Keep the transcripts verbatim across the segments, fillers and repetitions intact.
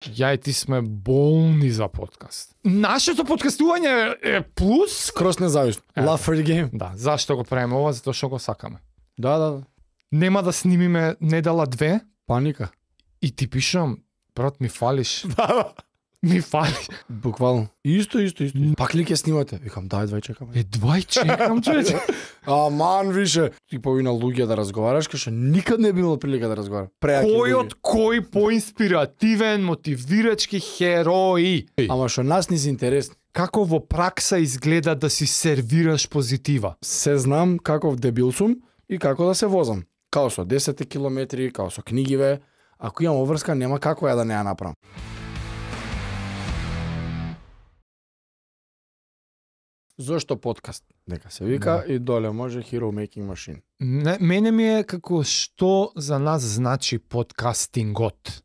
Ја и ти сме болни за подкаст. Нашето подкастување е плюс. Крос независно. Love for the game. Да, зашто го правиме ова? Затоа што го сакаме. Да, да, да. Нема да снимиме недела две. Паника. И ти пишам, брат, ми фалиш. Да, Ми фалиш. буквално. Исто, исто, исто. Пак ли ќе снимате? Викам, дај, двај чекаме. Е, двај чекам, човече. Аман, више. Ти повина луѓе да разговараш, кај што никад не би имал прилика да разговара. Преаки Кој луѓе. од кој поинспиративен, мотивирачки херои. Ама што нас ни се интересни. Како во пракса изгледа да си сервираш позитива? Се знам каков дебил сум и како да се возам. Као со десет километри, као со книгиве. Ако имам обврска, нема како ја да не ја направам. Зошто подкаст? Дека се вика Да. и доле може Hero Making Machine. Не, мене ми е како што за нас значи подкастингот.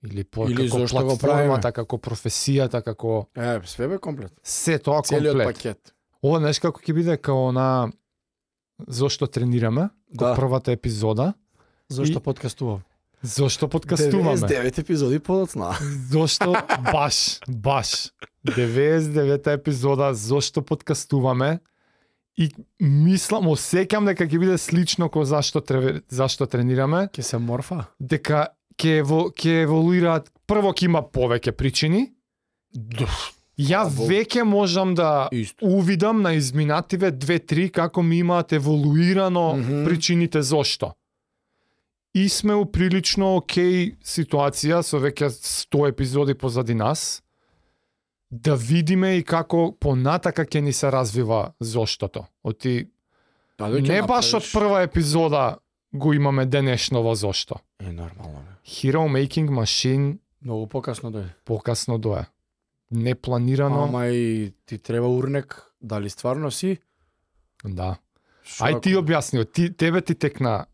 Или, по, Или како зошто го платформата, како професијата, како Е, све бе комплет. се тоа Целиот комплет. пакет. Ова знаеш како ќе биде као на зошто тренираме, Да. да. Првата епизода, Зошто И- подкастувам? зошто подкастуваме. деветдесет и девет епизоди подоцна. Зошто баш, баш. деветдесет и девета епизода зошто подкастуваме и мислам, осеќам дека ќе биде слично ко зашто треве, зашто тренираме, Ке се морфа. дека ќе ево, ќе еволуираат, прво ќе има повеќе причини. Ја Во- веќе можам да Исто. увидам на изминативе две-три како ми имаат еволуирано Мгм. причините зошто. И сме у прилично окей ситуација со веќе сто епизоди позади нас да видиме и како понатака ќе ни се развива заштото. Оти Да, дојќе не баш од направиш. прва епизода го имаме денешново зошто. Е, нормално бе. Hero Making Machine Многу покасно дојде. покасно дое. Непланирано. Ама и ти треба урнек, дали стварно си? Да. Шо Ај ако- ти објасни, ти тебе ти текна.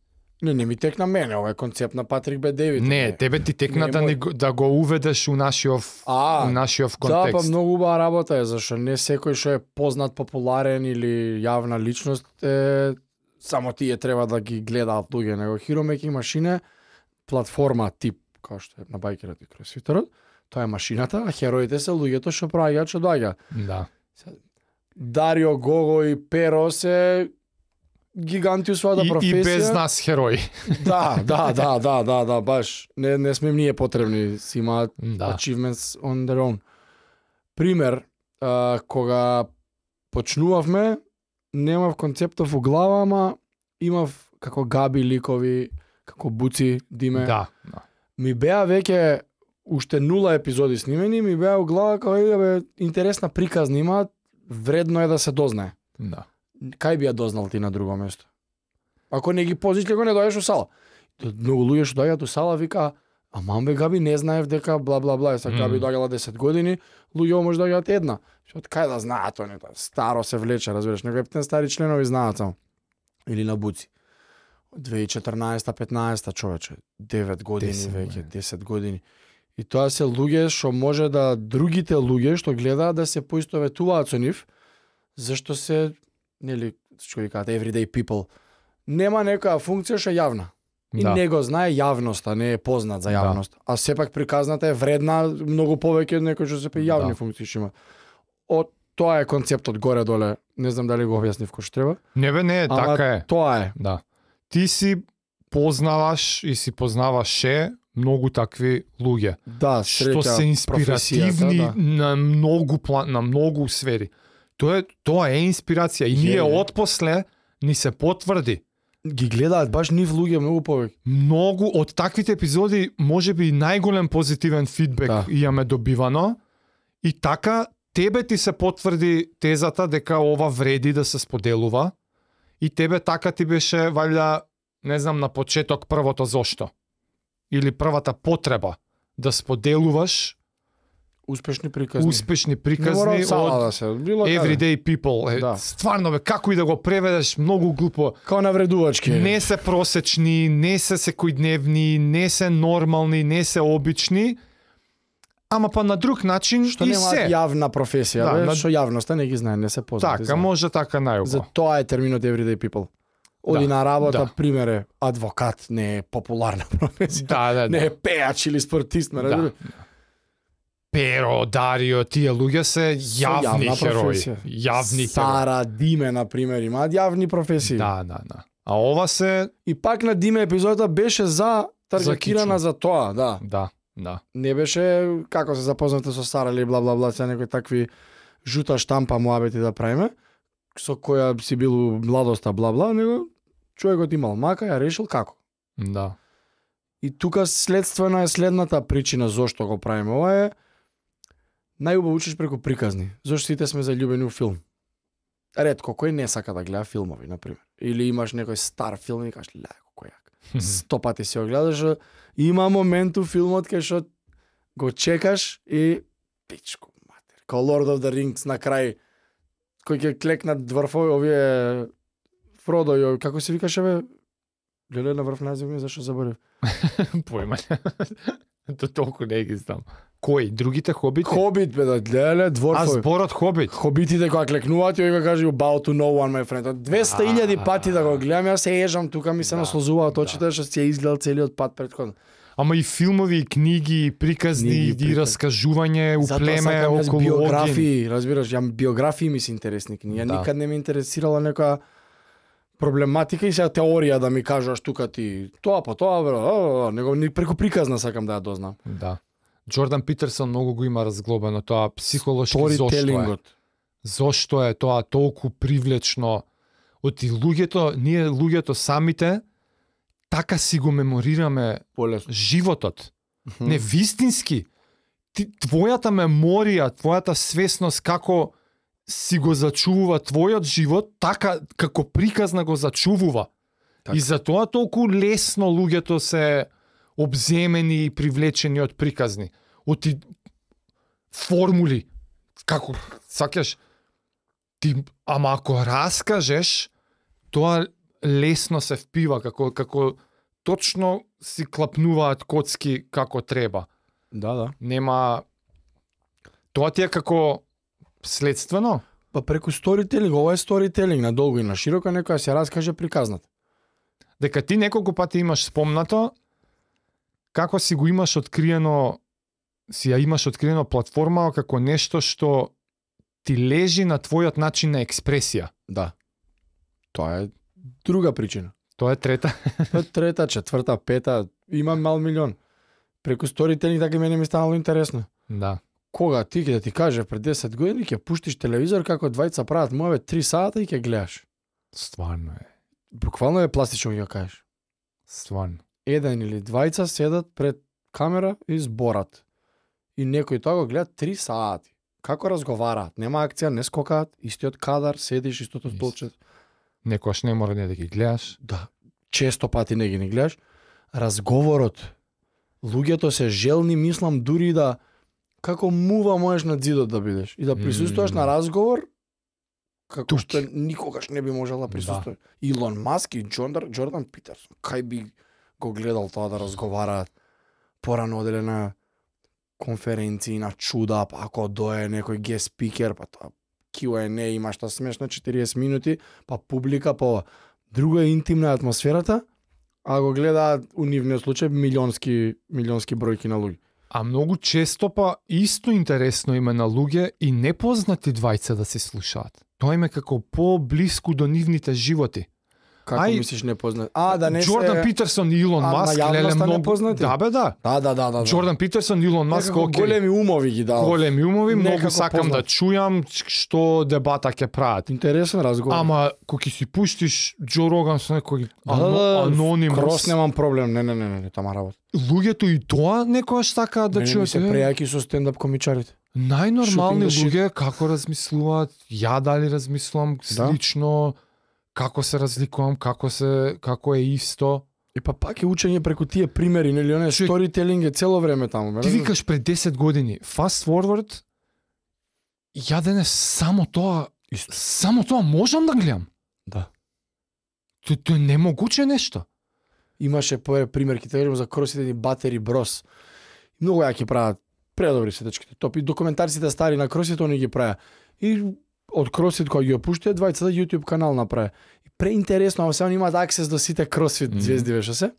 Не, не ми текна мене, ова е концепт на Патрик Б. Дейвид. Не, тебе ти текна Не, да, мој- ни, го- да го уведеш у нашиов А, у нашиов Да, контекст. па многу убава работа е, зашто не секој што е познат, популарен или јавна личност е само тие треба да ги гледаат луѓе, него Hero Making Machine е платформа тип, како што е на бајкерот и кросфитерот, тоа е машината, а хероите се луѓето што праќаат што доаѓа. Да. Дарио, Гого и Перо се гиганти у својата И, професија. и без нас херои. Да, да, да, да, да, да, баш. Не, не сме им ние потребни, си имаат Да. achievements on their own. Пример, а, кога почнувавме, немав концептов во глава, ама имав како Габи ликови, како Буци, Диме. Да. Да. Ми беа веќе уште нула епизоди снимени, ми беа у глава како е, бе, интересна приказна имаат, вредно е да се дознае. Да. Кај би ја дознал ти на друго место? Ако не ги позиш, го не дојдеш у сала. Многу луѓе што доаѓаат у сала вика, а мамбе Габи не знаев дека бла бла бла, са Габи Мм. доаѓала десет години, луѓе може доаѓаат една. Што од кај да знаат они, тоа старо се влече, разбираш, него ептен стари членови знаат само. Или на Буци. две илјади и четрнаесета петнаесета човече, девет години десет веќе, години. десет години. И тоа се луѓе што може да другите луѓе што гледаат да се поистоветуваат со нив, зашто се, нели, што викаат everyday people, нема некоја функција што е јавна. И Да. не го знае јавноста, не е познат за Да. јавност. А сепак приказната е вредна многу повеќе од некој што се пе јавни Да. функции што има. Од тоа е концептот горе-доле. Не знам дали го објаснив кој што треба. Не бе, не, Ама така е. Тоа е. Да. Ти си познаваш и си познаваше многу такви луѓе Да, што среќа се инспиративни професијата, да. на многу план, на многу сфери. Тоа е тоа е инспирација и Е, ние е. отпосле ни се потврди. Ги гледаат баш нив луѓе многу повеќе. Многу од таквите епизоди можеби најголем позитивен фидбек Да. имаме добивано и така тебе ти се потврди тезата дека ова вреди да се споделува и тебе така ти беше валја не знам на почеток првото зошто или првата потреба да споделуваш Успешни приказни. успешни Не мора приказни од сала од да се, било каде. everyday people. Е, Да. стварно бе, како и да го преведеш, многу глупо. Као навредувачки. Не се просечни, не се секојдневни, не се нормални, не се обични, ама па на друг начин Што и немаат се. јавна професија, Да, бе, на- што јавноста не ги знае, не се познати. Така, знае. може така најуго. За тоа е терминот everyday people. Оди Да, на работа, да. пример е, адвокат не е популарна професија. Да, да, да. Не е пеач или спортист, ме Да. разбира. Перо, Дарио, тие луѓе се јавни јавна херои. професија. Јавни херои. Сара, Диме, на пример, имаат јавни професии. Да, да, да. А ова се... И пак на Диме епизодата беше за таргетирана за, за тоа, да. Да, да. Не беше како се запознате со Сара или бла бла бла, се некои такви жута штампа муабети да правиме, со која си бил младоста бла бла, него човекот имал мака, ја решил како. Да. И тука следствена е следната причина зошто го правиме. Ова е најубаво учиш преку приказни. Зошто сите сме заљубени у филм. Ретко кој не сака да гледа филмови, на пример. Или имаш некој стар филм и кажеш, леко кој јак. Сто пати си го гледаш, има момент у филмот кај што го чекаш и пичко матер. Као Lord of the Rings на крај кој ќе клекнат врфови овие Фродо и како се викаше бе? Леле на врв назив ми зашо заборев. Појма. То толку не ги знам. Кој? Другите хобити? Хобит бе да леле А дворфови. зборот хобит? Хобитите кога клекнуваат и го каже about to know one my friend. двеста илјади пати да го гледам, јас се ежам тука ми се Да, наслозуваат да. очите што си ја изгледал целиот пат претходно. Ама и филмови, и книги, и приказни, Книги, и приказни. раскажување у Затоа племе сакам јас околу огин. биографии, разбираш, ја биографии ми се интересни книги. Ја Да. никад не ме интересирала нека проблематика и сега теорија да ми кажаш тука ти тоа по тоа, бре, а, а, него ни преку приказна сакам да ја дознам. Да. Джордан Питерсон многу го има разглобено тоа психолошки зошто е. Сторителингот. Зошто е тоа толку привлечно? Оти луѓето, ние луѓето самите така си го меморираме Полесно. животот. Не вистински. Ти, твојата меморија, твојата свесност како си го зачувува твојот живот, така како приказна го зачувува. Така. И затоа толку лесно луѓето се обземени и привлечени од приказни. Од ти формули. Како, сакаш, ти, ама ако раскажеш, тоа лесно се впива, како, како точно си клапнуваат коцки како треба. Да, да. Нема... Тоа ти е како следствено? Па преку сторителинг, ова е сторителинг на долго и на широко, некоја се раскаже приказната. Дека ти неколку пати имаш спомнато како си го имаш откриено, си ја имаш откриено платформа како нешто што ти лежи на твојот начин на експресија. Да. Тоа е друга причина. Тоа е трета. Тоа е трета, четврта, пета, имам мал милион. Преку сторителинг така и мене ми станало интересно. Да. Кога ти ќе да ти каже пред десет години ќе пуштиш телевизор како двајца прават моеве три сата и ќе гледаш. Стварно е. Буквално е пластично ќе кажеш. Стварно. Еден или двајца седат пред камера и зборат. И некој тоа го гледа три сати. Како разговараат, нема акција, не скокаат, истиот кадар, седиш истото Ист. столче. Некојаш не мора не да ги гледаш. Да, често пати не ги не гледаш. Разговорот. Луѓето се желни, мислам, дури да како мува можеш на зидот да бидеш и да присуствуваш Mm. на разговор како Тук. што никогаш не би можел да присуствуваш. Илон Маск и Джордан, Джордан Питерсон, кај би го гледал тоа да разговараат порано оделе на конференции, на чуда, па ако дое некој гест спикер, па тоа Q and A има што смешно четириесет минути, па публика, па ова. Друго е интимна атмосферата, а го гледаат у нивниот случај милионски милионски бројки на луѓе. А многу често па исто интересно име на луѓе и непознати двајца да се слушаат. Тоа им е како по-блиску до нивните животи. Како Ај, мислиш непознат? А, да не Джордан се... Питерсон и Илон А, на Маск, јавноста леле многу... непознати? Да бе, да. Да, да, да, да. да. Джордан Питерсон и Илон Маск, Некако окей. големи умови ги дал. Големи умови, многу Некако сакам да познат. чујам што дебата ќе прават. Интересен разговор. Ама кога ќе си пуштиш Џо Роган со некој да, да, да, анонимус, Крос немам проблем. Не, не, не, не, не тама работа. луѓето и тоа некојаш сакаат да Мене ми чујат. се е, прејаки со стендап комичарите. Најнормални Shooting the shit. луѓе како размислуваат, ја дали размислувам Да. слично, како се разликувам, како се како е исто. И па пак е учење преку тие примери, нели, оне Чуј, сторителинг е цело време таму. ме Ти разбираш? викаш пред десет години, fast forward, ја денес само тоа, Исто. само тоа можам да гледам. Да. Тоа тоа е немогуче нешто. Имаше по пример ќе кажам за кросите ни Батери Брос. Многу јаки прават. Предобри се дечките. Топи документарците стари на кросите они ги правеа. И од кросфит кој ги опуштија двајцата YouTube канал направи. И преинтересно, ама сега имаат аксес до сите кросфит Мгм. звезди веќе се.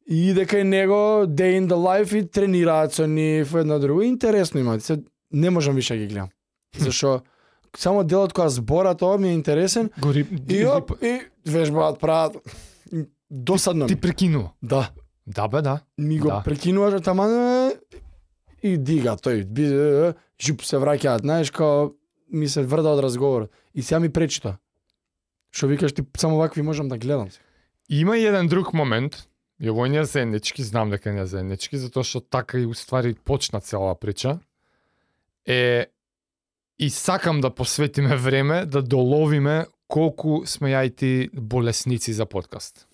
И иде кај него day in the life и тренираат со нив едно друго. Интересно има. Се не можам више ги гледам. Зашо само делот кога збора тоа ми е интересен. Гори И оп, и вежбаат, прават. Досадно Ти ми. прекинува. Да. Да бе, да. Ми го Да. прекинуваш таман и дига тој. Би- Жуп се враќаат, знаеш, као ми се врда од разговорот. И сега ми пречи тоа. Што викаш ти, само вакви можам да гледам. Има и еден друг момент. Ја во ние заеднички, знам дека не заеднички, затоа што така и уствари почна цела прича. Е, и сакам да посветиме време да доловиме колку сме ја и ти болесници за подкаст.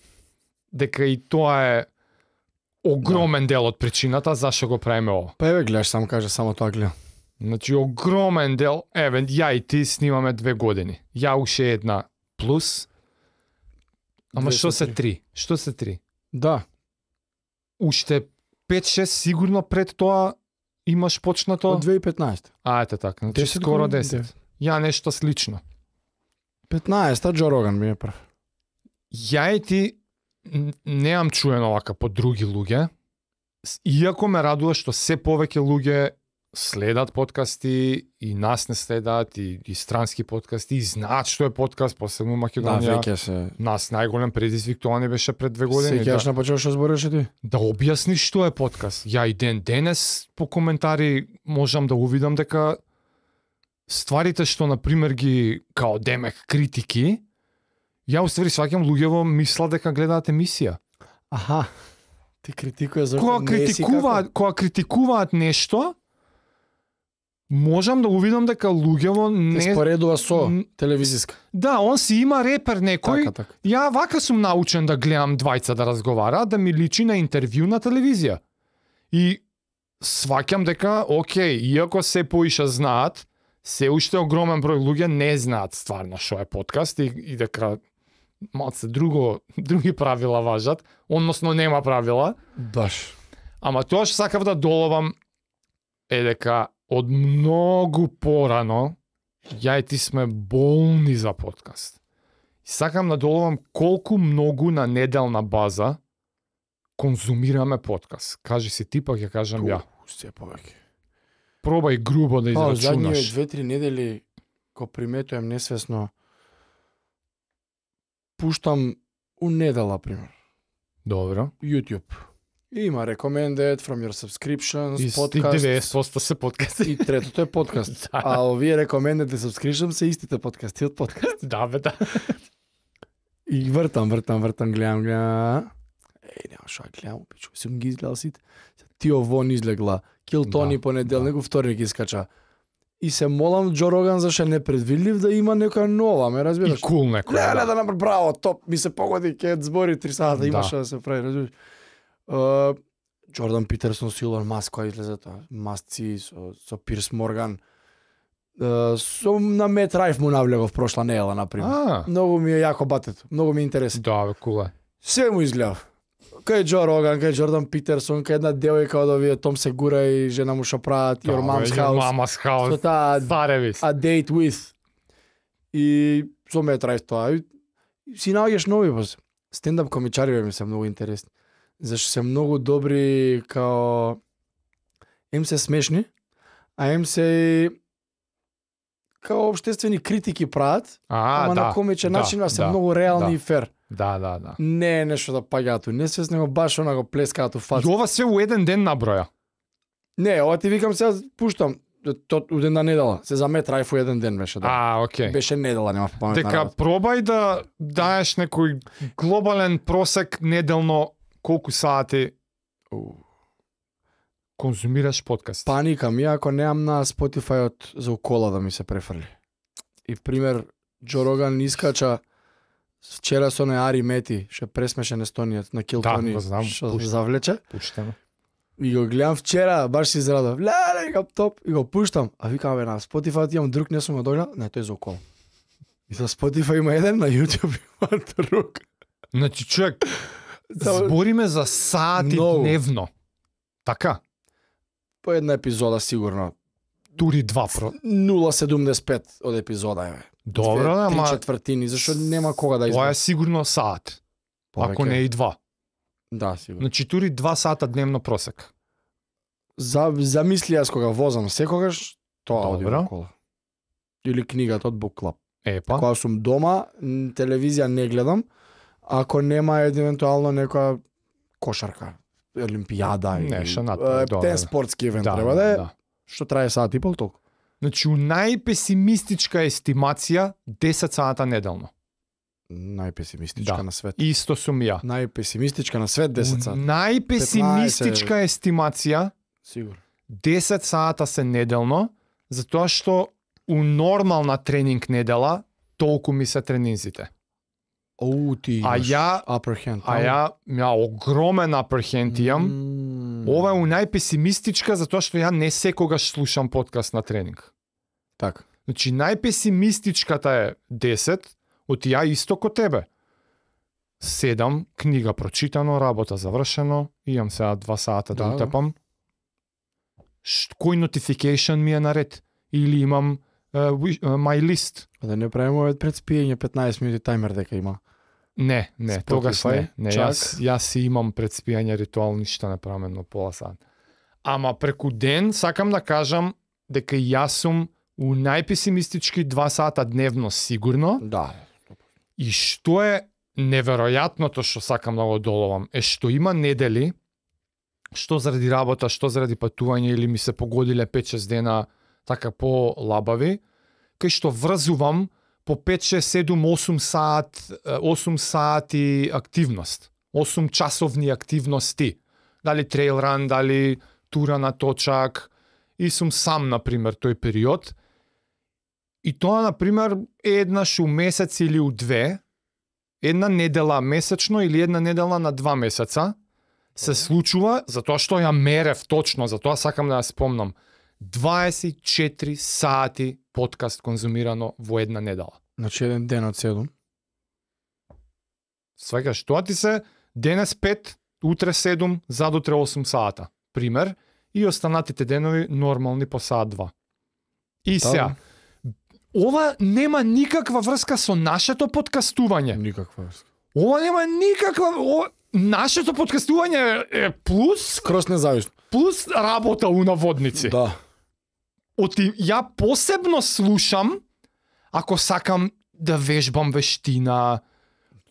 Дека и тоа е огромен дел од причината зашто го правиме ова. Па еве гледаш, само кажа, само тоа гледам. Значи, огромен дел, еве, ја и ти снимаме две години. Ја уште една плюс. Ама Две што со се три. три? Што се три? Да. Уште пет-шест сигурно пред тоа имаш почнато? Од две тисячи и петнаесета. А, ете така, значи десет скоро години, десет. Ја нешто слично. петнаесета Джо Роган ми е прв. Ја и ти н- неам чуено вака по други луѓе, с- иако ме радува што се повеќе луѓе следат подкасти и нас не следат и, и странски подкасти и знаат што е подкаст, посебно Да, Македонија. веќе се. Нас најголем предизвик тоа не беше пред две години. Сеќаш Да, на почеток што збореше ти? да објасниш што е подкаст. Ја и ден денес по коментари можам да увидам дека стварите што на пример ги као демек критики, ја уствари сваќам луѓево мислат дека гледаат емисија. Аха. Ти критикуваш зашто Кога не си како... критикуваат, кога критикуваат нешто, можам да увидам дека луѓево Те не споредува со М, телевизиска. Да, он си има репер некој. Така, така. Ја вака сум научен да гледам двајца да разговара, да ми личи на интервју на телевизија. И сваќам дека, окей, иако се поиша знаат, се уште огромен број луѓе не знаат стварно што е подкаст и, и дека малце друго, други правила важат, односно нема правила. Баш. Ама тоа што сакав да доловам е дека од многу порано ја и ти сме болни за подкаст. И сакам да доловам колку многу на неделна база конзумираме подкаст. Кажи си ти, па ќе кажам ја. Се повеќе. Пробај грубо да Па, задниве израчунаш. две-три недели го приметувам несвесно пуштам у недела, пример, Добро. YouTube. И има recommended from your subscriptions, И стиг podcast. деветдесет проценти се подкасти. И третото е подкаст. Да. А овие recommended и subscription се истите подкасти од подкаст. Да, бе, да. И вртам, вртам, вртам, гледам, гледам. Еј, нема шо ја гледам, пичу, сум ги изгледал сите. Тио Вон излегла, Кил Тони Да, понеделник, да. Вторник искача. И се молам Джо Роган зашто е непредвидлив да има некоја нова, ме И разбираш? кул некој. Леле Да. да направи браво, топ, ми се погоди ке збори три сата, Да. имаше да се прави, разбираш? Uh, Джордан Питерсон со Илон Маск кој излезе тоа, Масци со, со Пирс Морган. Uh, со на Мет Райф му навлегов прошла недела, например. А, Многу ми е јако батето, многу ми е интересно. да, бе, кул е. Се му изгледав. Кај Джо Роган, кај Джордан Питерсон, кај една девојка од овие Том Сегура и жена му што прават Your Mom's Your House. Mama's Со House. таа Старевис. A Date With. И со Мет Райф тоа. И си наоѓаш нови воз. Стендап комичари ми се многу интересни. Зашто се многу добри као ем се смешни, а ем се као обштествени критики прават, А, ама да. на комичен да, начин, а се да, многу реални да. и фер. Да, да, да. Не е нешто да паѓаат у несвесно, него баш она го плескаат у И фаца. ова се у еден ден наброја. Не, ова ти викам сега пуштам то у ден на недела. Се за Мет Райф у еден ден беше, да. А, окей. Беше недела, нема паметна Дека работа. пробај да даеш некој глобален просек неделно колку сати конзумираш подкаст. Паника ми, ако неам на Spotify од за укола да ми се префрли. И пример, Джо Роган искача вчера со не Ари Мети, ше пресмешен естонијаc на Кил Да, Тони, го знам, што пушта. завлече. Пуштаме. И го гледам вчера, баш си израдов. Леле, викам топ, и го пуштам. А викам, бе, на Spotify имам друг, не сум го догледал. Не, тој е за укол. И за Spotify има еден, на YouTube има друг. Значи, човек, Само- збориме за сати Многу. дневно. Така? По една епизода сигурно. Тури два про. нула седумдесет и пет од епизода, еве. Добро, Две, ама три четвртини, зашто нема кога да тоа изгледа. е сигурно сат. Ако Повеќе. не и два. Да, сигурно. Значи тури два сата дневно просек. За замисли јас кога возам секогаш тоа оди Добро. во кола. Или книгата од Book Club. Епа. Кога сум дома, м, телевизија не гледам, ако нема евентуално некоја кошарка, олимпијада или Нешто на тоа, е, добро. тен спортски евент Да, треба да е, да. што трае сат и пол толку. Значи, у најпесимистичка естимација десет сата неделно. Најпесимистичка Да. на свет. Исто сум ја. Најпесимистичка на свет десет У сат. најпесимистичка естимација Сигурно. десет сата се неделно, затоа што у нормална тренинг недела толку ми се тренинзите. Оу, ти А имаш ја, upper hand. а ја, ја огромен upper hand имам. М, Ова е у најпесимистичка затоа што ја не секогаш слушам подкаст на тренинг. Така. Значи најпесимистичката е десет, од ја исто ко тебе. седам, книга прочитано, работа завршено, имам сега два сата да, Да, да утепам. Ш, кој notification ми е наред? Или имам uh, wish, uh, my list? Да не правиме овој пред спиење петнаесет минути таймер дека има. Не, не, Spotify, тогаш не. Не, чак. јас, јас си имам пред спијање ритуал, ништо не правам едно пола сат. Ама преку ден сакам да кажам дека јас сум у најпесимистички два сата дневно сигурно. Да. И што е неверојатното што сакам да го доловам е што има недели што заради работа, што заради патување или ми се погодиле пет-шест дена така по-лабави, кај што врзувам по пет, шест, седум, осум сат, осум сати активност. осум часовни активности. Дали трейл ран, дали тура на точак. И сум сам, например, тој период. И тоа, например, е еднаш у месец или у две, една недела месечно или една недела на два месеца, се случува, затоа што ја мерев точно, затоа сакам да ја спомнам, дваесет и четири сати подкаст конзумирано во една недела. Значи еден ден од седум. Сваќаш, тоа ти се денес пет, утре седум, задутре осум сата. Пример, и останатите денови нормални по саат два. И сега, ова нема никаква врска со нашето подкастување. Никаква врска. Ова нема никаква... Ова... Нашето подкастување е, е плюс, Крос независно. плюс работа у наводници. Да. Оти, ја посебно слушам ако сакам да вежбам вештина.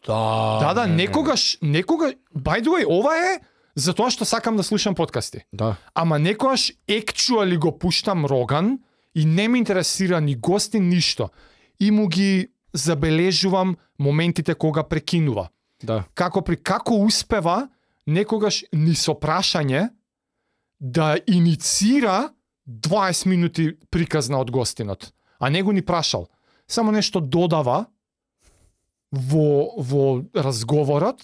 Да. Да, да, не, не, некогаш, некогаш, by the way, ова е затоа што сакам да слушам подкасти. Да. Ама некогаш actually го пуштам Роган и не ме интересира ни гости, ништо. И му ги забележувам моментите кога прекинува. Да. Како при како успева некогаш ни со прашање да иницира дваесет минути приказна од гостинот, а не го ни прашал. Само нешто додава во во разговорот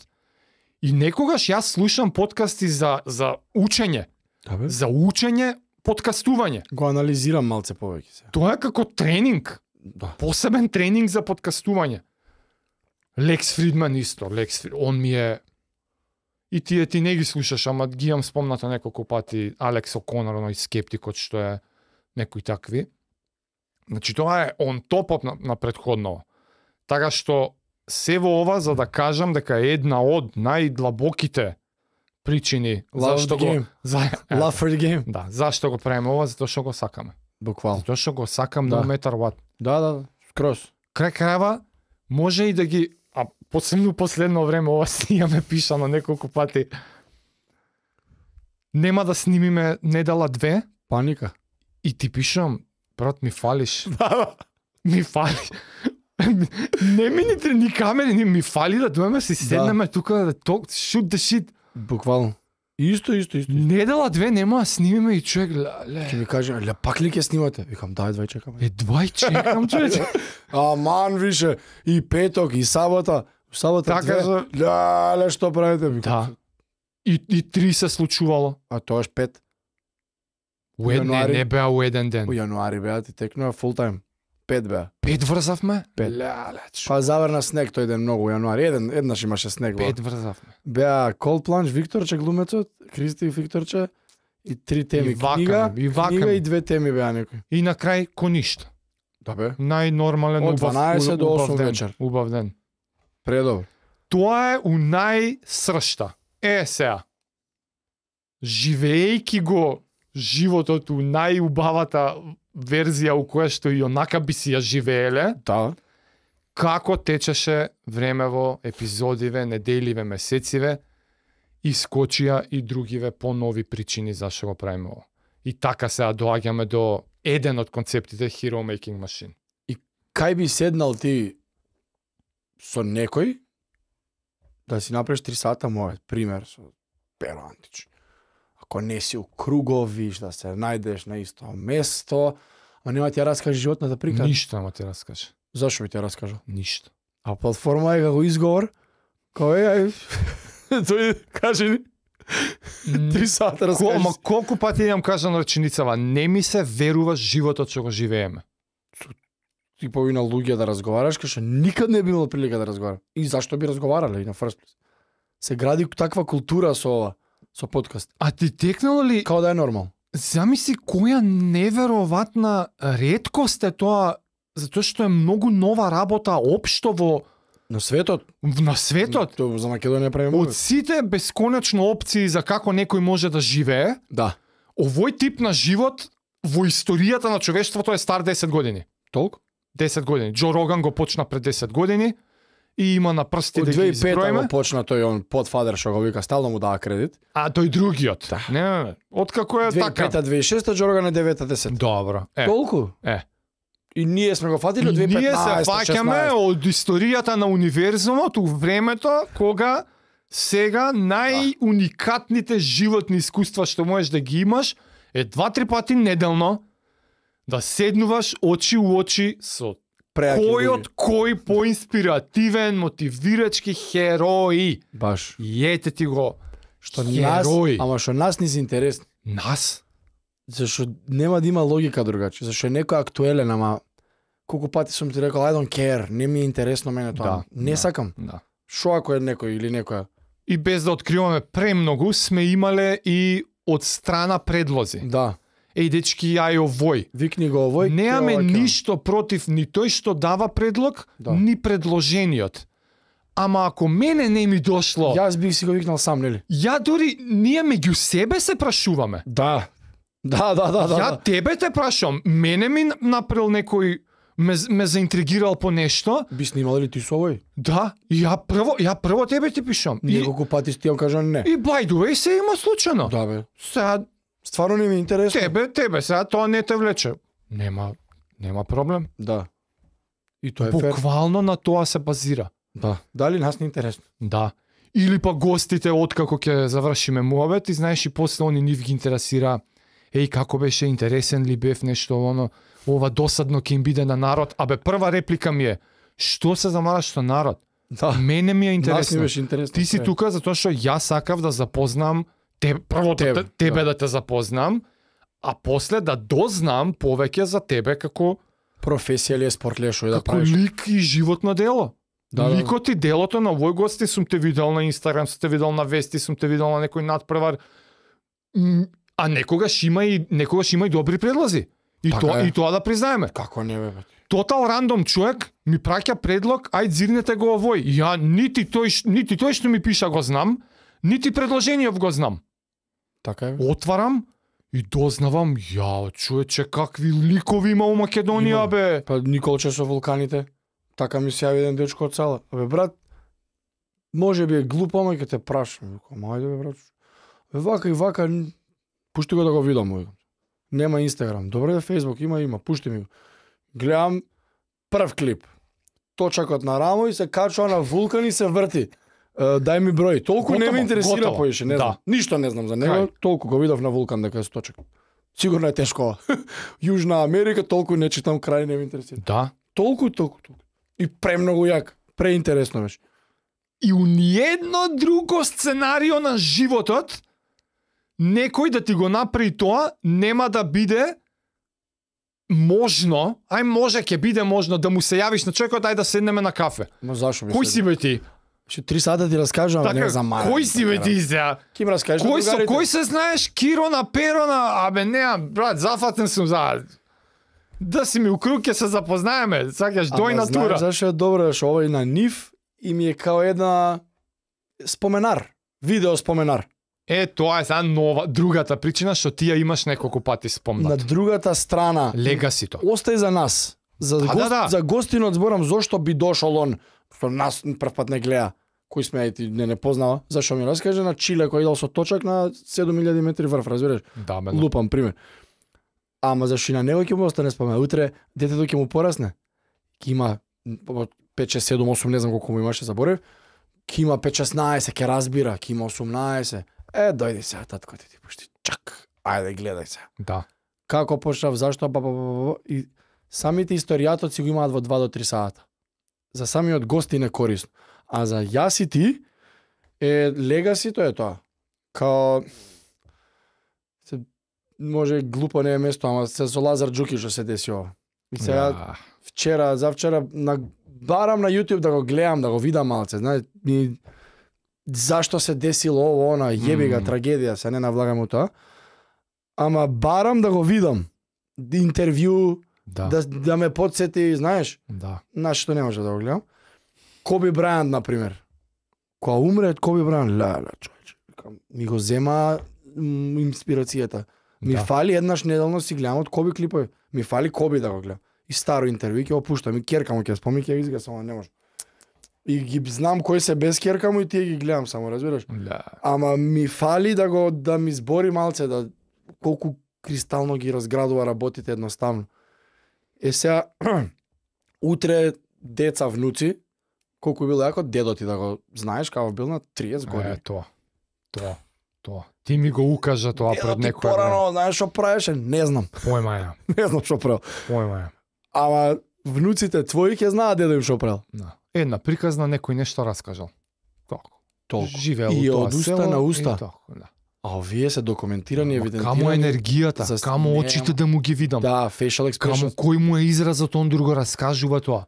и некогаш јас слушам подкасти за за учење, Да, бе. за учење подкастување. Го анализирам малце повеќе се. Тоа е како тренинг, Да. посебен тренинг за подкастување. Лекс Фридман исто, Лекс Фрид, он ми е и тие ти не ги слушаш, ама ги имам спомнато неколку пати Алекс О'Конор, оној скептикот што е некои такви. Значи тоа е он топот на, на предходно. Така што се во ова за да кажам дека е една од најдлабоките причини Love зашто the го game. за, е, Love for the game. да, зашто го правиме ова, затоа што го сакаме. Буквално. Затоа што го сакам Да. no matter what. Да, да, да. Крос. Крај крајва може и да ги, а посебно последно време ова си имаме пишано неколку пати. Нема да снимиме недела две Паника. и ти пишам, брат, ми фалиш. Ми фали. Не ми ни, ни камери, ни ми фали да дојме си седнеме тука да talk, shoot the shit. Буквално. Исто, исто, исто. Недела две нема да снимиме и човек, ле, Ќе ми каже, ле пак ли ќе снимате? Викам, дај, двај чекаме. едва и чекам, човече. Аман више, и петок, и сабота. Сабота Така две. за- Да, ле, што правите? Викам, Да. И, и три се случувало. А тоа е пет. У ед, не, Јануари. не беа у еден ден. У јануари беа, ти текнува фул тајм. Пет беа. Пет врзавме? Пет. Леле, чу. Па заврна снег тој ден многу у јануари. Еден, еднаш имаше снег. во. Пет врзавме. Беа Cold Plunge, Викторче глумецот, Кристи и Викторче и три теми И вака книга, ми, и вака книга ми. и две теми беа некои. И на крај ко ништо. Да бе. Најнормален Од убав, дванаесет до убав осум ден, вечер. Убав ден. Предобро. Тоа е у најсршта. Е, сега. Живеејќи го животот у најубавата верзија у која што и онака би си ја живееле, Да. како течеше времево, епизодиве, неделиве, месециве, искочија и другиве по-нови причини зашто го правиме ово. И така сега доаѓаме до еден од концептите Hero Making Machine. Кај би седнал ти со некој да си направиш три сата, мојот пример со Перо Антич. Ако не си у круговиш, да се најдеш на исто место, а нема ти ја раскаже животната прика. Ништо нема ти раскаже. Зашо би ти ја раскажа? Ништо. А платформа е како изговор, кој е, тој каже ни, три сата Ко, раскажеш. ма колку пати имам кажано реченицава, не ми се верува животот што го живееме. Ти повина луѓе да разговараш, кај никад не би имал прилика да разговара. И зашто би разговарале и на first place? Се гради таква култура со ова, со подкаст. А ти текнало ли, Као да е нормално. замисли која неверојатна реткост е тоа, затоа што е многу нова работа општо во На светот, на светот. то за Македонија правиме. Од сите бесконечно опции за како некој може да живее, Да. овој тип на живот во историјата на човештвото е стар десет години. Толку? десет години. Џо Роган го почна пред десет години и има на прсти Од да ги две илјади и пета изброиме. го почна тој он подфадер што го вика, стално му дава кредит. А тој другиот. Да. Не, не, не. Откако е две илјади и така. пета, две илјади и шеста, Джорган е девета, десета. Добро. Е. Толку? Е. И ние сме го фатили од И две илјади и ние се петнаесета, фаќаме шеснаесета. од историјата на универзумот у времето кога сега најуникатните животни искуства што можеш да ги имаш е два-три пати неделно да седнуваш очи у очи со Преаки кој луѓе. од кој поинспиративен, мотивирачки херои. Баш. И ете ти го Што нас, херои. ама што нас ни се интересни. Нас? Зашо нема да има логика другачи. Зашо е некој актуелен, ама колку пати сум ти рекол I don't care, не ми е интересно мене тоа. Да, не да. сакам. Да. Шо ако е некој или некоја? И без да откриваме премногу, сме имале и од страна предлози. Да. Еј, дечки, ја е овој. Викни го овој. Немаме ќе ова, ќе ова. ништо против ни тој што дава предлог, Да. ни предложениот. Ама ако мене не ми дошло, ја, Јас бих си го викнал сам, нели? ја дори, ние меѓу себе се прашуваме. Да. Да, да, да, да. ја да. тебе те прашувам, мене ми направил некој, ме, ме заинтригирал по нешто, Би снимал ли ти со овој? да, и ја прво, ја прво тебе ти пишам. И, Неколку пати ти ја кажам не. и by the way, се има случајно. Да бе. Сега, Стварно не ми е интересно. тебе, тебе, сега тоа не те влече. Нема, нема проблем. Да. И тоа е фер. Буквално на тоа се базира. Да. Дали нас не е интересно? Да. Или па гостите откако ќе завршиме муабет и знаеш и после они нив ги интересира еј како беше интересен ли бев нешто оно, ова досадно ќе им биде на народ. Абе прва реплика ми е што се замараш со народ? Да. Мене ми е Нас не интересно. беше интересно. Ти си Е. тука затоа што јас сакав да запознам те, прво Тебе, тебе, тебе да. да. да те запознам, а после да дознам повеќе за тебе како Професија ли е, спорт ли е, шо е да како правиш? лик и животно дело. Да, да. Ликот и делото на овој гости сум те видел на Инстаграм, сум те видел на вести, сум те видел на некој надпревар. М, А некогаш има и некогаш има и добри предлози. И Така тоа е. и тоа да признаеме. Како не бе? бе? Тотал рандом човек ми праќа предлог, ајде зирнете го овој. Ја нити тој ш- нити тој што ми пиша го знам, нити предложенијав го знам. Така е. бе. Отварам и дознавам, јао, човече, какви ликови има у Македонија, Има. бе. Па Николче со вулканите. Така ми се јави еден дечко од села. Бе брат, може би е глупо, ама ќе те прашам. Викам, ајде бе брат. Бе вака и вака, н- пушти го да го видам. Викам. Нема Инстаграм. Добре бе Фејсбук, има, има, пушти ми го. Гледам прв клип. Точакот на рамо и се качува на вулкан и се врти. Е, дај ми број. Толку не Готово, ме интересира готово. поише, не Да. знам. Ништо не знам за него, Крај. толку го видов на вулкан дека е сточак. Сигурно е тешко. Јужна Америка, толку не читам, крај не ме интересира. Да. Толку, толку, толку. И премногу јак, преинтересно беше. И у ниедно друго сценарио на животот некој да ти го направи тоа нема да биде можно, ај може ќе биде можно да му се јавиш на човекот, ај да седнеме на кафе. Ма зашо би Кој се- си бе ти? Ще три сата ти раскажам, Така, не за мара. кој си бе ти сега? Ки ми раскажеш Кој на со другарите? кој се знаеш Кирона, Перона, абе не, брат, зафатен сум за да си ми у круг ќе се запознаеме, сакаш дој Ама натура. знаеш зашо е добро, што овој на нив и ми е као една споменар. Видео споменар. Е, тоа е за нова, другата причина што ти ја имаш неколку пати На спомнат. другата страна, Легасито. остај за нас. За, А, гост, да, да. за гостинот зборам зошто би дошол он, што нас прв пат не гледа, кој сме и ти не не познава, зашо ми раскаже на Чиле кој идел со точак на седум илјади метри врв, разбираш? Да, бе. Лупам пример. Ама зашо и на него ќе му остане спомен. Утре детето ќе му порасне. Ќе има пет шест седум осум, не знам колку му имаше, заборев. Ќе има пет шеснаесет, ќе разбира, ќе има осумнаесет. Е, дојди сега, татко ти ти пушти. Чак, ајде гледај се. Да. Како почнав, зашто, ба, ба, ба, ба, и самите историјатот си го имаат во два до три сата. За самиот гости не корисно. А за јас и ти, е, легасито е тоа. Као, се, може глупо не е место, ама се со Лазар Джуки што се деси ова. И сега, Да. вчера, завчера, на, барам на YouTube да го гледам, да го видам малце, знаеш, ми, зашто се десило ово, она, јеби га, Мм. трагедија, се не навлагам у тоа. Ама барам да го видам. Интервју, Да. да, да ме подсети, знаеш, Да. на што не може да го гледам. Коби Брајант, например. Кога умре Коби Брајант, ла-ла, човече, викам, ми го зема м, инспирацијата. Ми Да. фали еднаш неделно си гледам од Коби клипови. Ми фали Коби да го гледам. И старо интервју ќе го пуштам, и керка му ќе спомни, ќе ги изга, само не може. И ги знам кои се без керка му и тие ги гледам само, разбираш? Да. Ама ми фали да го да ми збори малце да колку кристално ги разградува работите едноставно. Е сега утре деца внуци, колку било јако дедо ти да го знаеш како бил на триесет Е, години. тоа. Тоа. Тоа. Ти ми го укажа тоа Дедо пред ти некој време. порано, знаеш што правеше? Не знам. Појма ја. Не знам што правил. Појма ја. Ама внуците твои ќе знаат дедо им што правил. Да. Една приказна некој нешто раскажал. Како? Толку. Живеел И у тоа од уста село на и уста. тако, да. А овие се документирани, Ама евидентирани. Камо енергијата, За- камо не, очите да му ги видам. Да, facial Камо expression. кој му е изразот, он друго раскажува тоа.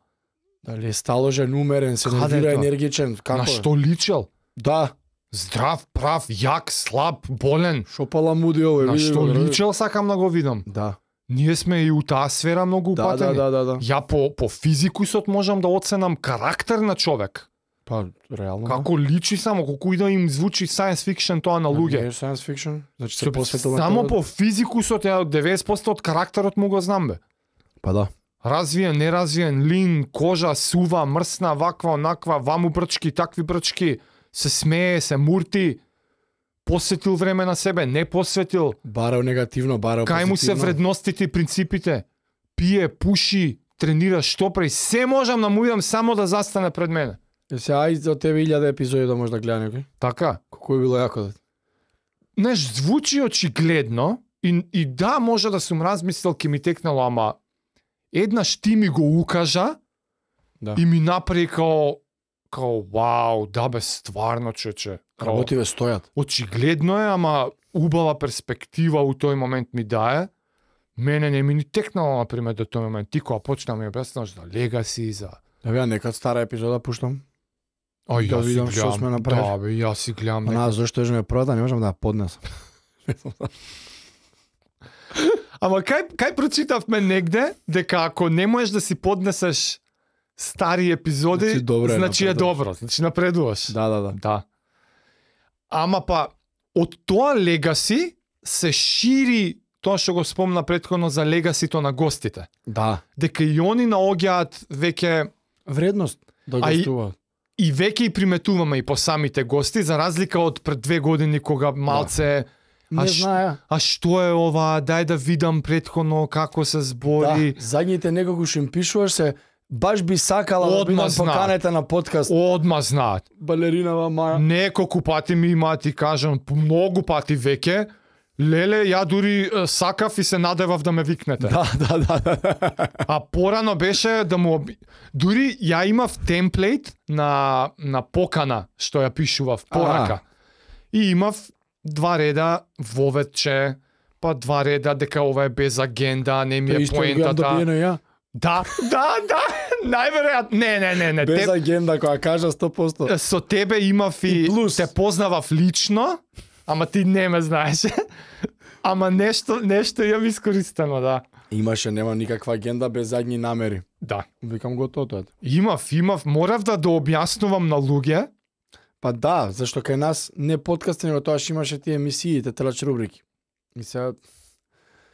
Дали е сталожен, умерен, се Каде нервира, е тоа? енергичен, како? На е? што личел? Да. Здрав, прав, јак, слаб, болен. Шо паламуди ово е. На види што го, да. личел сакам да го видам. Да. Ние сме и у таа сфера многу Да, упатени. да, да, да, да. Ја по, по физикусот можам да оценам карактер на човек. Па, реално. Како личи само, колку и да им звучи science fiction тоа на Не луѓе. е science fiction. Значи се Со- посветил на Само тоа. по физикусот, ја деветдесет проценти од карактерот му го знам бе. Па да. Развиен, неразвиен, лин, кожа, сува, мрсна, ваква, онаква, ваму брчки, такви брчки, се смее, се мурти, посветил време на себе, не посветил, Барал негативно, барал кај му се позитивно. вредностите и принципите, пие, пуши, тренира, што прави, се можам да му видам само да застане пред мене. Е, се ај за тебе илјада епизоди да може да гледа некој. Така? Колку е било јако да. Неш, звучи очигледно и, и да, може да сум размислил, ке ми текнало, ама еднаш ти ми го укажа Да. и ми направи као, као, вау, да бе, стварно, чече. Као, Работиве стојат. очигледно е, ама убава перспектива у тој момент ми дае. Мене не ми ни текнало, например, до тој момент. Ти кога почна ми објаснаш за легаси, за... Да бе, некад стара епизода пуштам. Ај, Да јас си видам што гледам. сме направили. Да, бе, јас си гледам. А нека- на зашто е ме првата, не можам да ја поднесам. Ама кај, кај прочитавме негде, дека ако не можеш да си поднесеш стари епизоди, Значи добро е, значи е напредуваш. добро, значи напредуваш. Да, да, да. Да. Ама па, од тоа легаси се шири тоа што го спомна претходно за легасито на гостите. Да. Дека и они наоѓаат веќе Вредност да А и- гостуваат. и веќе и приметуваме и по самите гости, за разлика од пред две години кога малце Не а ш- знаеа. а што е ова, дај да видам претходно како се Да, збори. задните некако што им пишуваш се, баш би сакала да Одма бидам знаат. поканета на подкаст. Одма знаат. Балеринава Маја. Неколку пати ми има, ти кажам, многу пати веќе, леле, ја дури е, сакав и се надевав да ме викнете. Да, да, да, да. А порано беше да му оби... Дури ја имав темплейт на, на покана, што ја пишував порака. И имав два реда воветче, па два реда дека ова е без агенда, не ми Тоа е исто го имам поентата. добиено ја. Да, да, да, најверојатно. Не, не, не, не. Без Те, агенда која кажа сто проценти. со тебе имав и, И плюс. те познавав лично, ама ти не ме знаеше. Ама нешто, нешто имам искористено, да. Имаше, нема никаква агенда без задни намери. Да. Викам го тоа тоа. Имав, имав, морав да да објаснувам на луѓе, Па да, зашто кај нас не подкасти, него тоа што имаше тие емисии, те трчач рубрики. И сега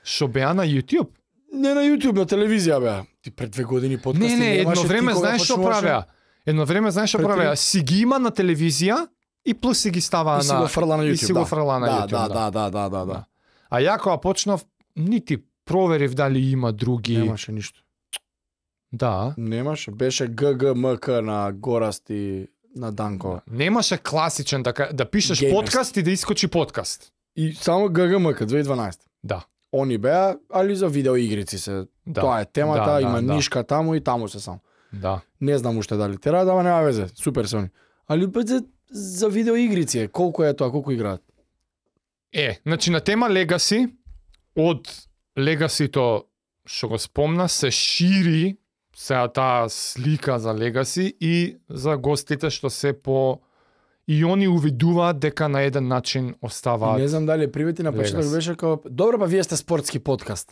Што беа на YouTube? не на YouTube, на телевизија беа. Ти пред две години подкасти Не, не, едно немаше, ти време кога знаеш што почнуваше, правеа? Едно време знаеш што Пред правеа? три- Си ги има на телевизија и плюс си ги става И си на го фрла на и YouTube. си го да. фрла на да, YouTube. Да, да, да, да, да, да. А ја кога почнав, нити проверив дали има други. Немаше ништо. Да. Немаше, беше ге ге ем ка на Горасти на Данко. Немаше класичен да, ка- да пишеш Геймерски. подкаст и да искочи подкаст. И само ге ге ем ка две илјади и дванаесета. Да. Они беа, али за видеоигрици се. Да. Тоа е темата, Да, има да, да. нишка таму и таму се само. Да. Не знам уште дали тера, да, нема везе. Супер се они. Али па за, за видеоигрици е, колку е тоа, колку играат. Е, значи на тема Legacy, од Legacy-то што го спомна, се шири сега таа слика за Legacy и за гостите што се по и они увидуваат дека на еден начин оставаат. Не знам дали привети на почеток Legacy. беше како добро, па вие сте спортски подкаст.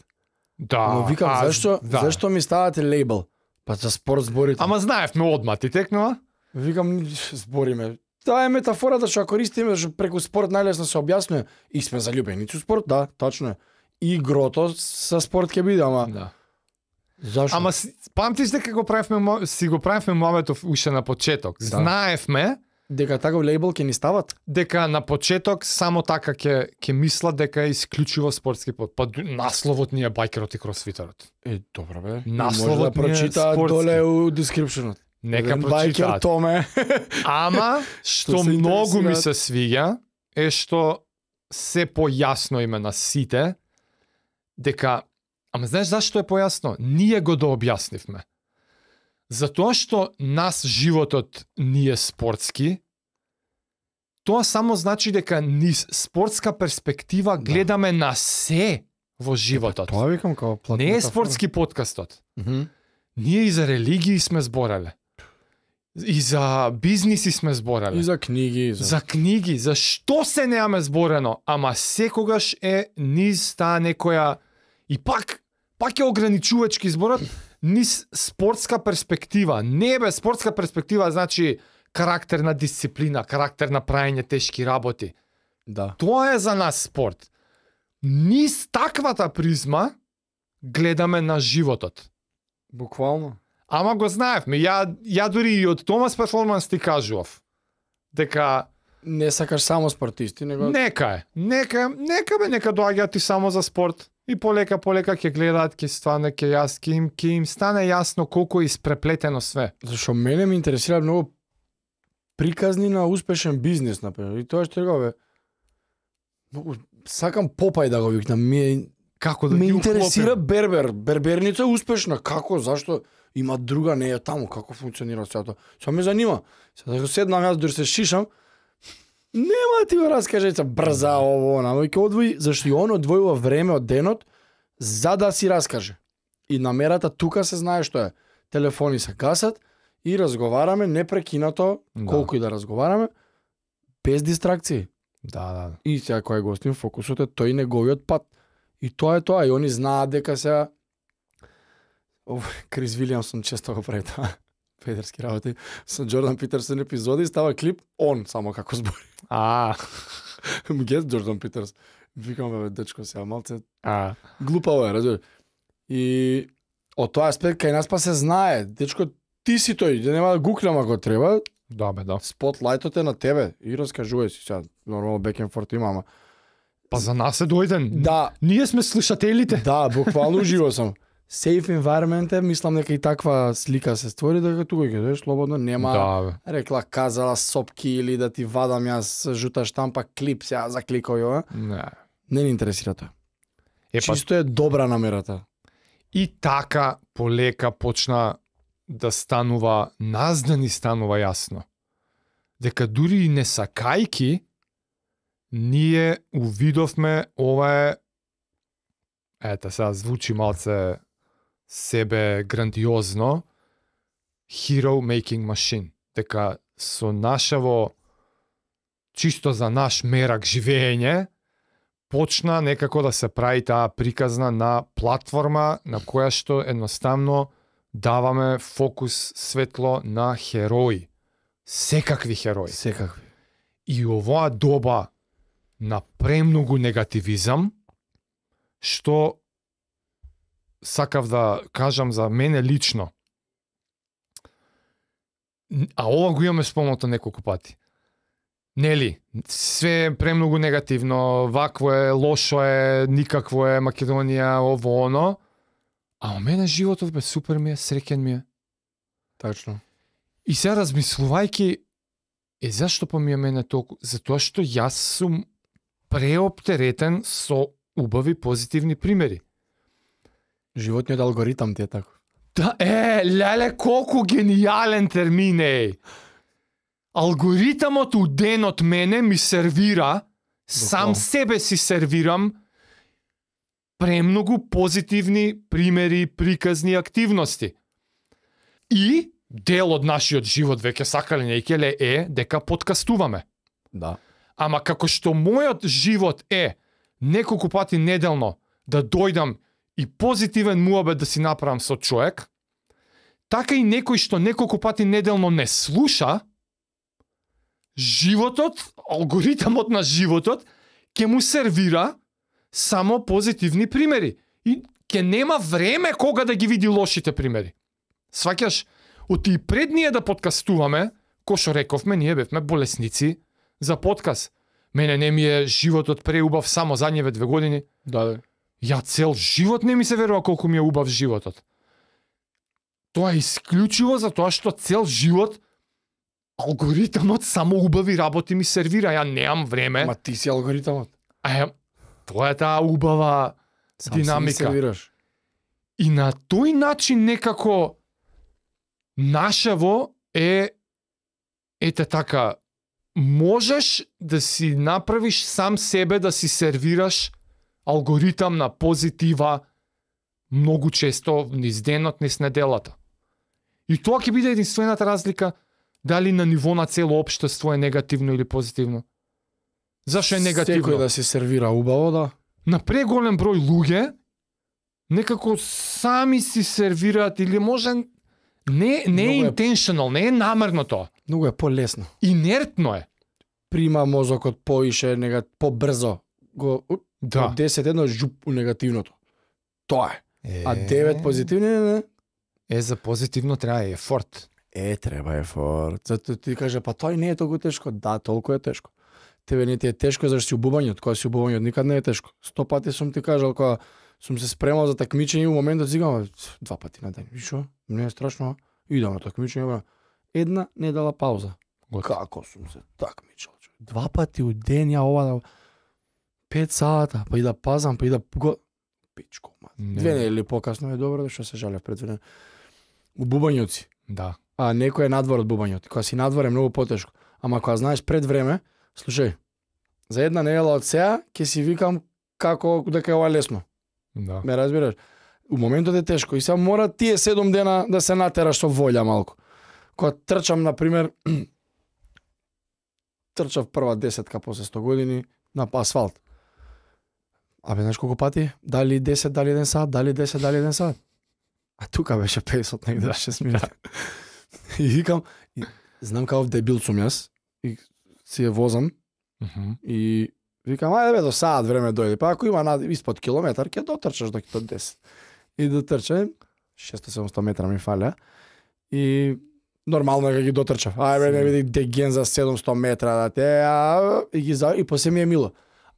Да. Но викам а, зашто да. зашто ми ставате лейбл? Па за спорт зборите. Ама знаевме одма ти текнува? Викам збориме. Таа е метафората што ја користиме што преку спорт најлесно се објаснува и сме заљубени со спорт, да, точно е. И игрото со спорт ќе биде, ама Да. зашто? Ама си- памтиш дека го правевме мо- си го правевме мовето уште на почеток. Да. Знаевме дека таков лейбл ќе ни стават? дека на почеток само така ќе ќе мислат дека е исклучиво спортски под. Па ду- насловот ни е байкерот и кросфитерот. Е, добро бе. Насловот Може да ни е прочитаат спортски. доле у дескрипшенот. Нека Еден байкер прочитаат. Томе. Ама што се многу ми интересираат. се свиѓа е што се појасно име на сите дека ама знаеш зашто е појасно? Ние го да објаснивме. Затоа што нас животот ни е спортски, тоа само значи дека низ спортска перспектива гледаме на се во животот. Тоа викам како платна Не е метафора. спортски подкастот. Мгм. Ние и за религии сме збореле. И за бизниси сме збореле. И за книги, и за... За книги, за што се немаме зборено, ама секогаш е низ таа некоја и пак пак е ограничувачки зборот низ спортска перспектива. Не бе, спортска перспектива значи карактерна дисциплина, карактер на праење тешки работи. Да. Тоа е за нас спорт. Низ таквата призма гледаме на животот. Буквално. Ама го знаевме. Ја, ја дури и од Томас Перформанс ти кажував дека Не сакаш само спортисти, него нека е, нека, нека бе, нека доаѓаат и само за спорт. И полека, полека ќе гледаат, ќе стане, ќе јас, ќе им, ќе им стане јасно колку е испреплетено све. зашо мене ме интересира многу приказни на успешен бизнис, например. И тоа што реков бе. Многу сакам Попај да го викнам. Ми е- Како да ме ги интересира уклопим. Бербер. Берберница е успешна. Како? Зашто? Има друга, не е таму. Како функционира сето тоа? Тоа ме занима. Сега да седнам јас дури се шишам. Нема да ти го раскаже се брза ово, она, ќе одвои, зашто и он одвојува време од денот за да си раскаже. И намерата тука се знае што е. Телефони се гасат и разговараме непрекинато, Да. колку и да разговараме, без дистракции. Да, да. И сега кој го гостим фокусот е тој неговиот пат. И тоа е тоа, и они знаат дека сега Ов, Крис Вилиамсон често го прави тоа. Педерски работи. Со Джордан Питерсон епизоди става клип он само како збори. А, Гес Джордан Питерс. Викам бе дечко сега малце а. глупаво е, разбираш. И од тоа аспект кај нас па се знае, дечко ти си тој, да нема да гуклам ако треба, Да, бе, да. спотлајтот е на тебе и раскажувај си сега. Нормално back and forth има, ама Па за нас е дојден. да, Ние сме слушателите. да, буквално уживо сум. Safe environment е, мислам дека и таква слика се створи, дека тука ќе дојдеш слободно, нема Да, бе. рекла, казала сопки или да ти вадам јас жута штампа клип сега за кликој ова. Не. Не ни интересира тоа. Е, па, Чисто е добра намерата. и така полека почна да станува, нас да ни станува јасно. Дека дури и не сакајки, ние увидовме ова е, ете сега звучи малце себе грандиозно, hero making machine. Дека со нашево, чисто за наш мерак живење, почна некако да се прави таа приказна на платформа на која што едноставно даваме фокус светло на херои. Секакви херои. Секакви. И оваа доба на премногу негативизам, што сакав да кажам за мене лично, а ова го имаме спомнато неколку пати. Нели, све е премногу негативно, вакво е, лошо е, никакво е, Македонија, ово, оно. А у мене животот бе супер ми е, среќен ми е. Тачно. И сега размислувајќи, е зашто па ми е мене толку? Затоа што јас сум преоптеретен со убави позитивни примери. Животниот алгоритам ти е тако. Да, е, леле, колку гениален термин е. Алгоритамот у денот мене ми сервира, сам себе си сервирам премногу позитивни примери, приказни активности. И дел од нашиот живот, веќе сакале нејкеле, е дека подкастуваме. Да. Ама како што мојот живот е неколку пати неделно да дојдам и позитивен муабет да си направам со човек, така и некој што неколку пати неделно не слуша, животот, алгоритамот на животот, ќе му сервира само позитивни примери. И ќе нема време кога да ги види лошите примери. Сваќаш, оти и пред ние да подкастуваме, кој што рековме, ние бевме болесници за подкаст. Мене не ми е животот преубав само задниве две години. Да, да. Ја цел живот не ми се верува колку ми е убав животот. Тоа е исклучиво за тоа што цел живот алгоритамот само убави работи ми сервира. Ја немам време. Ма ти си алгоритамот. А ја, тоа е таа убава Сам динамика. си сервираш. И на тој начин некако нашево е ете така, можеш да си направиш сам себе да си сервираш алгоритам на позитива многу често низ денот, низ неделата. И тоа ќе биде единствената разлика дали на ниво на цело општество е негативно или позитивно. Зашо е негативно? Секој да си сервира убаво, да. На преголем број луѓе некако сами си сервираат или може не не е Многу е- intentional, не е намерно тоа. Многу е полесно. Инертно е. Прима мозокот поише, нега побрзо го уп, Да. од десет едно жуп у негативното. Тоа е. Е, А девет позитивни не. Е, за позитивно треба ефорт. Е, треба ефорт. Зато ти каже, па тој не е толку тешко. Да, толку е тешко. Тебе не ти е тешко зашто си убувањот. Кога си убувањот никад не е тешко. Сто пати сум ти кажал кога сум се спремал за такмичење, у моментот си гам, два пати на ден. Вишо, не е страшно. Идам на такмичење, бра. Една недела пауза. Готово. Како сум се такмичал. човек. Два пати у ден ја ова да пет сата, па и да пазам, па и да го пичко, ма. Не. Две недели покасно е добро, да што се жалев пред време. У бубањот си. Да. А некој е надвор од бубањот. Кога си надвор е многу потешко. Ама кога знаеш пред време, слушај, за една недела од сега ќе си викам како дека е ова лесно. Да. Ме разбираш? У моментот е тешко и сега мора тие седум дена да се натераш со волја малку. Кога трчам на пример трчав прва десетка после сто години на асфалт. Абе, знаеш колку пати? Дали десет, дали еден сат, дали десет, дали еден сат. А тука беше петдесет негде шест минути. И викам, и, знам каков дебил сум јас, и си ја возам, Мгм. и викам, ајде бе, до саат време дојде, па ако има над, испод километар, ќе дотрчаш до до десет. И дотрчам, шесто седумсто метра ми фаля, и нормално е кога ги дотрчав. Ајде бе, не види деген за седумсто метра, да те, а, и ги за, и после ми е мило.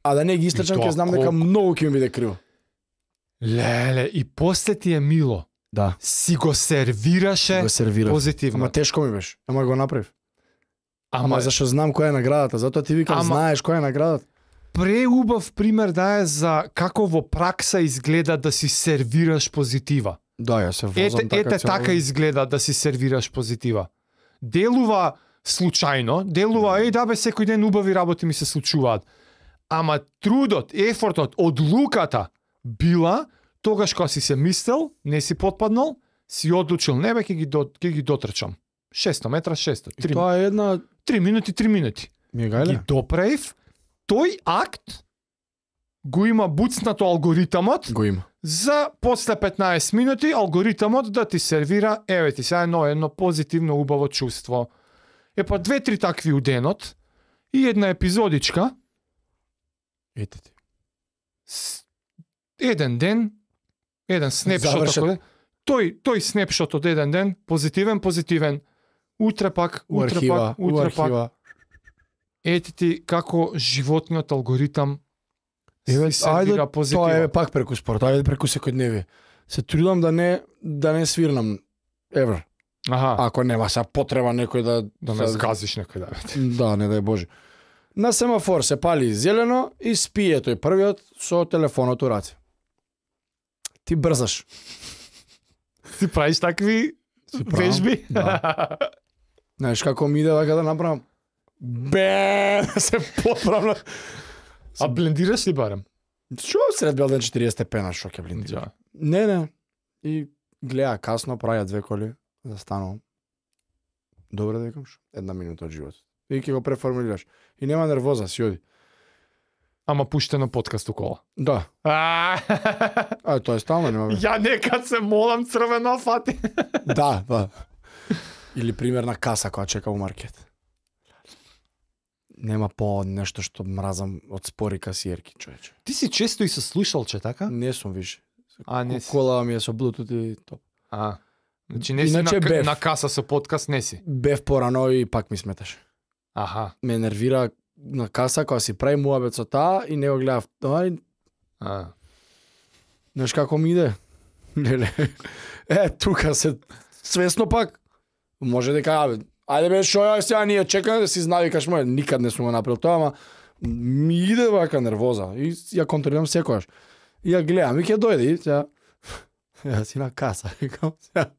А да не ги истрчам, И тоа ќе знам дека колку? многу ќе ми биде криво. Леле, и после ти е мило. Да. Си го сервираше Го сервирав. позитивно. Ама тешко ми беше. Ама го направив. Ама, Ама зашто знам која е наградата, затоа ти викам, Ама- знаеш која е наградата. преубав пример дае за како во пракса изгледа да си сервираш позитива. Да, ја се возам Ете, така ете цел- така изгледа да си сервираш позитива. Делува случајно, делува, еј да бе, секој ден убави работи ми се случуваат. Ама трудот, ефортот, одлуката била, тогаш кога си се мислел, не си потпаднал, си одлучил, не бе, ќе ги, до, ќе ги дотрчам. шесто метра, шесто. И Три, тоа е една три минути, три минути. ми е Ги гајле. доправив, тој акт го има буцнато алгоритамот, Го има. за после петнаесет минути алгоритамот да ти сервира, еве ти сега едно, едно позитивно убаво чувство. Е па две-три такви у денот, И една епизодичка, Ете ти. с- еден ден, еден снепшот, Завршет. ако е, тој, тој снепшот од еден ден, позитивен, позитивен, утре пак, У утре архива, пак, у утре пак, архива. ете ти како животниот алгоритам Еве, си ајде, сервира тоа позитива. е пак преку спорт, ајде преку секојдневие. Се трудам да не да не свирнам евер. Аха, Ако нема са потреба некој да да ме са- згазиш некој да. Да, не дај Боже. На семафор се пали зелено и спие тој првиот со телефонот у раце. Ти брзаш. Ти правиш такви Си правам, вежби? да. Знаеш како ми иде вака да направам? Бе, да се поправна. А блендираш ли барем? Што сред Белден четириесет степена, што ќе блиндира? Да. Не, не. И гледа касно, праја две коли, застанувам. Добре да викам што? Една минута од животот. И ќе го преформулираш. И нема нервоза, си оди. Ама пуштено подкаст у кола. Да. А, А, тоа е стално, нема. Ја некад се молам црвено фати. Да, да. Или пример на каса која чека у маркет. Нема по нешто што мразам од спори касиерки, човече. Ти си често и со слушалче, така? Не сум више. А, не си. Кола ми е со Bluetooth и топ. А. Значи не си Иначе на, бев. на каса со подкаст, не си. Бев порано и пак ми сметаше. Аха. Ме нервира на каса кога си прави муабет со таа и не го гледав. Ај, А. знаеш како ми иде? Леле. Е, тука се свесно пак. Може дека, абе, ајде бе, шо ја сега ние чекаме да си навикаш мој, никад не сум го направил тоа, ама ми иде вака нервоза и ја контролирам секогаш. И ја гледам и ќе дојде и сега ја си на каса, викам, сега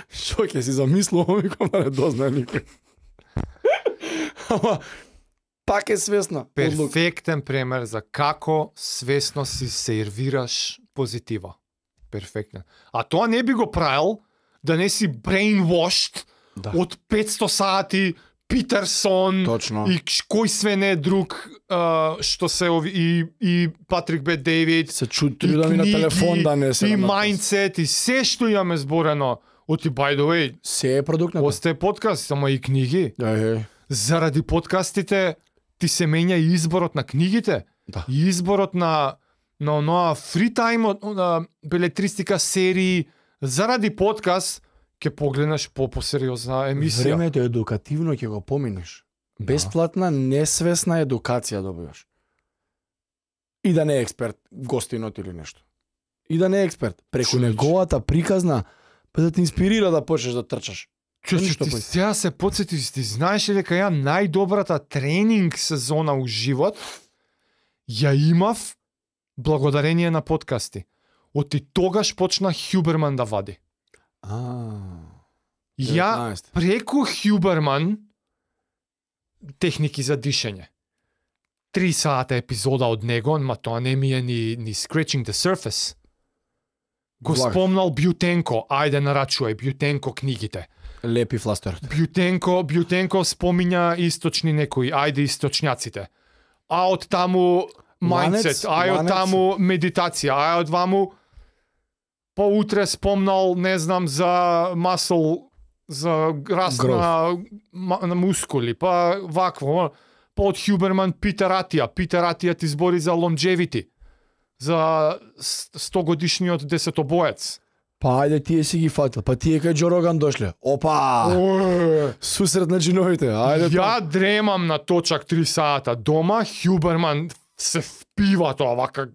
шо ќе си замислувам, викам да не дознае никој. Ама пак е свесна. Одлука. Перфектен пример за како свесно си сервираш позитива. Перфектен. А тоа не би го правил да не си brainwashed Да. од петсто сати Питерсон Точно. и ш- кој све не друг а, што се ови, и, и Патрик Бет Дейвид Се чу и трудам и на книги, телефон да не се и наматам. mindset и се што имаме зборено. Оти by the way, Се е продукт на тоа. остае подкаст, само и книги. Еј, Заради подкастите ти се менја и изборот на книгите, Да. и изборот на на оноа фри тајм од на белетристика серии. Заради подкаст ќе погледнеш по посериозна емисија. Времето едукативно ќе го поминеш. Бесплатна, несвесна едукација добиваш. И да не е експерт, гостинот или нешто. И да не е експерт. Преку Човече. неговата приказна, па да те инспирира да почнеш да трчаш. Чо, Ништо ти пој. сега се подсетиш, ти знаеш ли дека ја најдобрата тренинг сезона у живот ја имав благодарение на подкасти. Оти тогаш почна Хјуберман да вади. А. Ја деветнаесет. преку Хјуберман техники за дишење. Три сата епизода од него, ма тоа не ми е ни, ни Scratching the Surface. Го Влаг. спомнал Бјутенко, ајде нарачувај Бјутенко книгите. Лепи фластерот. Бјутенко, Бјутенко спомиња источни некои, ајде источњаците. А од таму Ланец, mindset, ај од ланец. таму медитација, ај од ваму поутре спомнал, не знам, за масл, за раст Гроф. на, ма- на мускули, па вакво, па од Хјуберман Питер Атија, Питер Атија ти збори за longevity, за сто годишниот десетобоец. Па ајде тие си ги фатил. Па тие кај Џо Роган дошле. Опа! Ој. Сусрет на джиновите. Ајде Ја дремам на точак три сата дома, Хјуберман се впива тоа вака.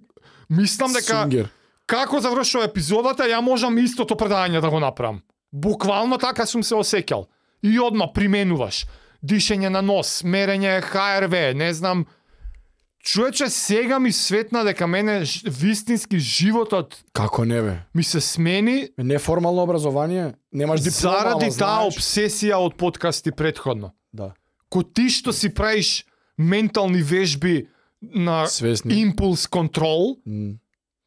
Мислам дека Сунгер. како завршува епизодата, ја можам истото предање да го направам. Буквално така сум се осеќал. И одма применуваш. Дишење на нос, мерење Х Р В, не знам. Човече, сега ми светна дека мене ж- вистински животот Како не бе? ми се смени Неформално образование, немаш диплома, заради ама таа знаеш. обсесија од подкасти претходно. Да. Ко ти што си правиш ментални вежби на Свесни. импулс контрол, М,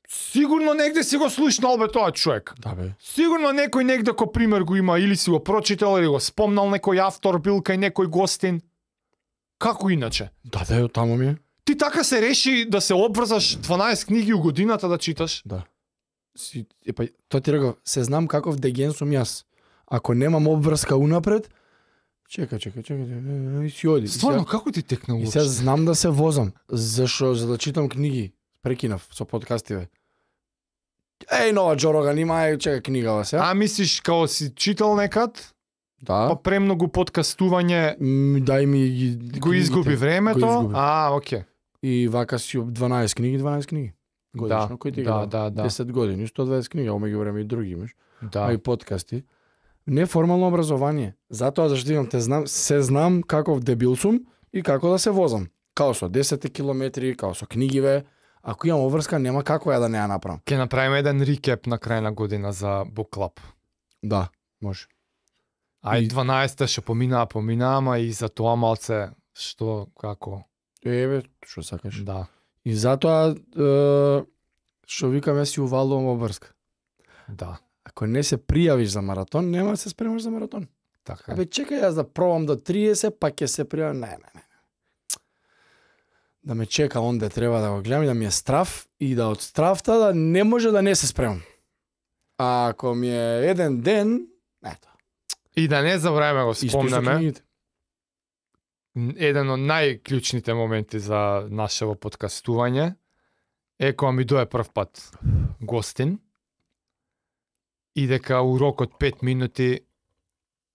сигурно негде си го слушнал бе тоа човек. Да бе. Сигурно некој негде ко пример го има, или си го прочитал, или го спомнал некој автор, бил кај некој гостин. Како иначе? Да, да, таму ми е. Ти така се реши да се обврзаш дванаесет книги у годината да читаш? Да. Си, епа, тоа ти реков, се знам каков деген сум јас. Ако немам обврска унапред, Чекај, чекај, чекај, и си оди. Стварно, како ти текна И уопште? сега знам да се возам. Зашо? За да читам книги. Прекинав со подкастиве. Еј, нова Джо Роган, има, е, чекај книгава се. А мислиш као си читал некад, Да. па премногу подкастување М, Дај ми ги го изгуби книгите. времето? Го изгуби. А, окей. И вака си об дванаесет книги, дванаесет книги. Годишно, Да, кој ти ги да, дава? да, да. десет години, сто дваесет книги, а меѓу време и други имаш. А Да. и подкасти. Неформално образование. Затоа зашто имам те знам, се знам каков дебил сум и како да се возам. Као со десет километри, као со книгиве. Ако имам обврска, нема како ја да не ја направам. Ке направиме еден рекеп на крај на година за Book Club. Да, може. А и И- дванаесетта што поминаа, поминаа, ама и за тоа малце што како. Еве, што сакаш. Да. И затоа е, што викам, јас си увалувам обврска. Да. Ако не се пријавиш за маратон, нема да се спремаш за маратон. Така. е. Абе, чекај јас да пробам до триесет, па ќе се пријавам. Не, не, не. Да ме чека онде треба да го гледам и да ми е страв и да од стравта да не може да не се спремам. А ако ми е еден ден, ето. И да не забравиме го Исто и со спомнеме, книгите. еден од најклучните моменти за нашево подкастување е кога ми дое прв пат гостин и дека у рок од пет минути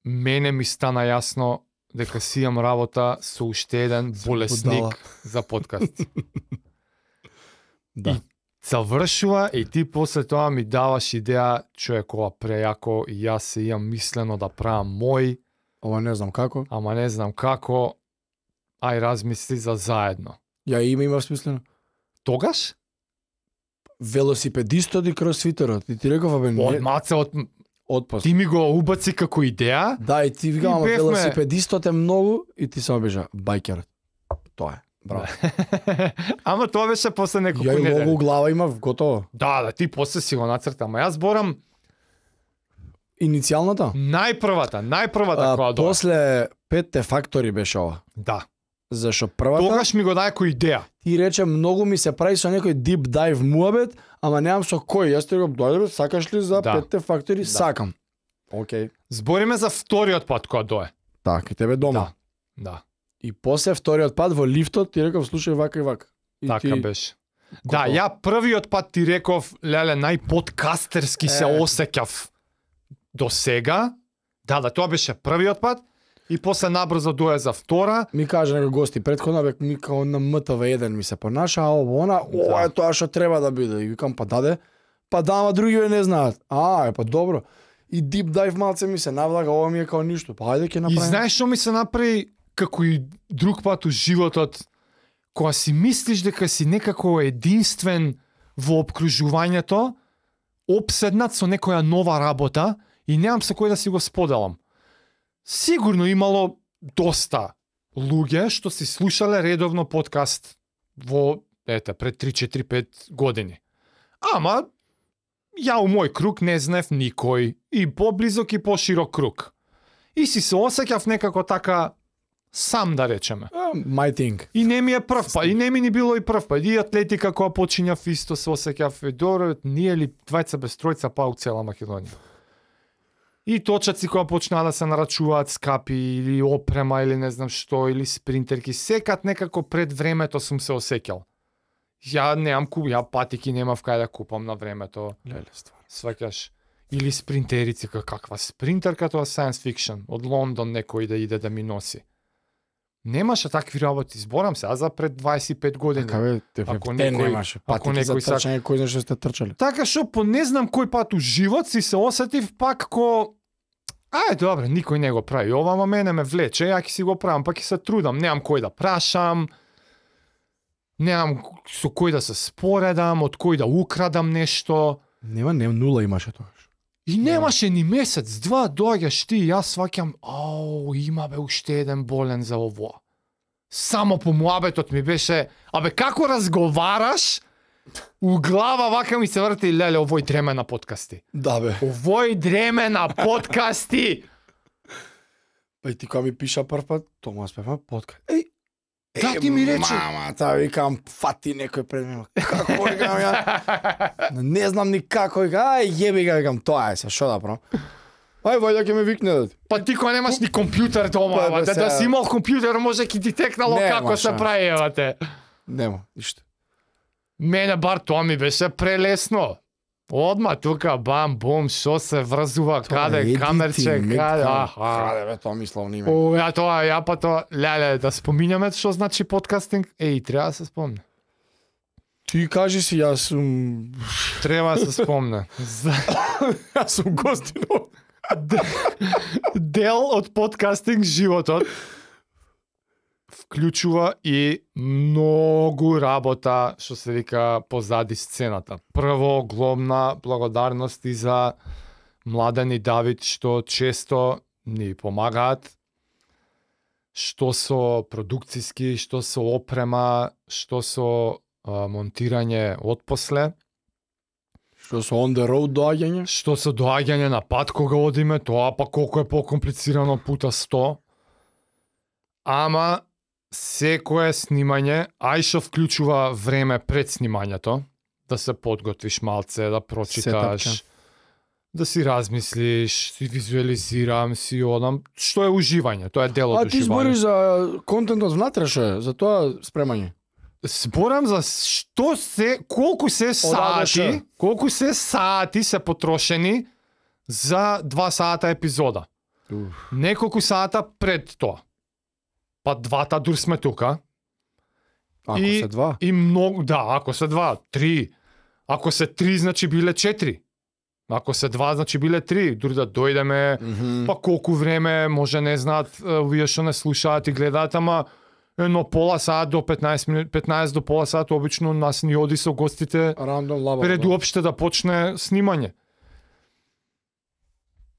мене ми стана јасно дека си имам работа со уште еден болесник будала. за подкаст. Да. И завршува и ти после тоа ми даваш идеја, човек, ова прејако и јас се имам мислено да правам мој, Ова не знам како. ама не знам како, ај размисли за заедно. Ја име имав смислено. Тогаш? Велосипедистот и кросфитерот. И ти реков, абе, Од не, маце, од... отпост. ти ми го убаци како идеја, Да, и ти викам, И ама бевме- велосипедистот е многу и ти само бежа байкерот. Тоа е. Браво. ама тоа беше после неколку Ја и лого недели. у глава имав, готово. Да, да, ти после си го нацрта, ама јас борам Иницијалната? најпрвата, најпрвата А, која дое. после петте фактори беше ова. Да. Зашо првата Тогаш ми го дај кој идеја. ти рече многу ми се прави со некој deep dive муабет, ама немам со кој. Јас ти реков, дојде бе, сакаш ли за Да. петте фактори? Да. Сакам. Океј. Збориме за вториот пат која дое. Така, и тебе дома. Да. Да. И после вториот пат во лифтот ти реков, слушај вака и вака. И Така ти... беше. Да, Готово. ја првиот пат ти реков, леле, најподкастерски се Е. осеќав до сега. Да, да, тоа беше првиот пат. И после набрзо дое за втора. Ми кажа некој гости претходно, бе, ми као на М Т В еден ми се понаша, а ово она, ова е тоа што треба да биде. И викам, па даде, па да, ама другиве не знаат. А, е, па добро. И deep dive малце ми се навлага, ова ми е као ништо. Па ајде ќе И направиме. знаеш што ми се направи како и друг пат у животот, кога си мислиш дека си некако единствен во обкружувањето, обседнат со некоја нова работа и немам со кој да си го споделам. Сигурно имало доста луѓе што си слушале редовно подкаст во, ете, пред три четири пет години. Ама, ја у мој круг не знаев никој, и поблизок и поширок круг. И си се осеќав некако така сам, да речеме. А, My thing. И не ми е прв пат, и не ми ни било и прв пат. И атлетика која почињав исто се осеќав, е добро, ние ли двајца без тројца па у цела Македонија. И точаци која почнаа да се нарачуваат скапи или опрема или не знам што, или спринтерки, секад некако пред времето сум се осеќал. Ја немам куп, ја патики немав кај да купам на времето. Леле, ствар. Сваќаш. Или спринтерици, ка- каква спринтерка, тоа science fiction, од Лондон некој да иде да ми носи. Немаше такви работи, зборам се, а за пред дваесет и пет години. Така бе, те, Ако те некој- немаше. ако Патики за некој сак- трчање, кој знае што сте трчале. Така што по не знам кој пат у живот си се осетив пак ко ај добре, никој не го прави ова, ама мене ме влече, ја ќе си го правам, па ќе се трудам, немам кој да прашам, немам со кој да се споредам, од кој да украдам нешто. Нема, не, нула имаше тогаш. И немаше ни месец, два, доаѓаш ти и јас сваќам, ау, има бе уште еден болен за ово. Само по муабетот ми беше, абе како разговараш, у глава вака ми се врти, леле, овој дреме на подкасти. Да бе. Овој дреме на подкасти. Па и ти кога ми пиша прв пат, Томас Пефа, подкаст. Еј, Да, ти ми рече. Мама, та викам, фати некој пред мене. Како викам ја? Не знам ни како, вика, ај јеби га, викам, тоа е се, шо да правам? Ај, вајде ќе ме викне да. Па ти кога немаш ни компјутер дома, Па, ама, бе, да, да сега- си имал компјутер, може ќе ти текнало Нема како се шанс. прави, ева те. Нема, ништо. Мене бар тоа ми беше прелесно. Одма тука, бам, бум, шо се врзува, каде, едитинг, камерче, мек- каде, аха. Каде бе, тоа мисловно име. О, ја тоа, ја па тоа, леле, да споминјаме што значи подкастинг? Еј, треба да се спомне. Ти кажи си, јас сум... Треба да се спомне. За- Јас сум гостино. Дел од подкастинг животот вклучува и многу работа, што се вика, позади сцената. Прво, глобна благодарност и за Младен и Давид, што често ни помагаат, што со продукциски, што со опрема, што со а, монтирање отпосле, Што со on the road доаѓање? што со доаѓање на пат кога одиме, тоа па колку е покомплицирано пута сто. Ама секое снимање, ај што вклучува време пред снимањето, да се подготвиш малце, да прочиташ, Сетапче. да си размислиш, си визуализирам, си одам, што е уживање, тоа е дел А од ти збориш уживање. за контентот внатре што е, за тоа спремање. Зборам за што се, колку се Одаде сати, ше. колку се сати се потрошени за два сата епизода. Неколку сата пред тоа. Па двата дур сме тука. Ако И- се два. И многу, да, ако се два, три. Ако се три, значи биле четири. Ако се два, значи биле три. Дури да дојдеме, Мгм. па колку време, може не знаат, е, вие што не слушаат и гледаат, ама едно пола сат до петнаесет минути, петнаесет до пола сат, обично нас ни оди со гостите Рандом лаба. пред уопште да почне снимање.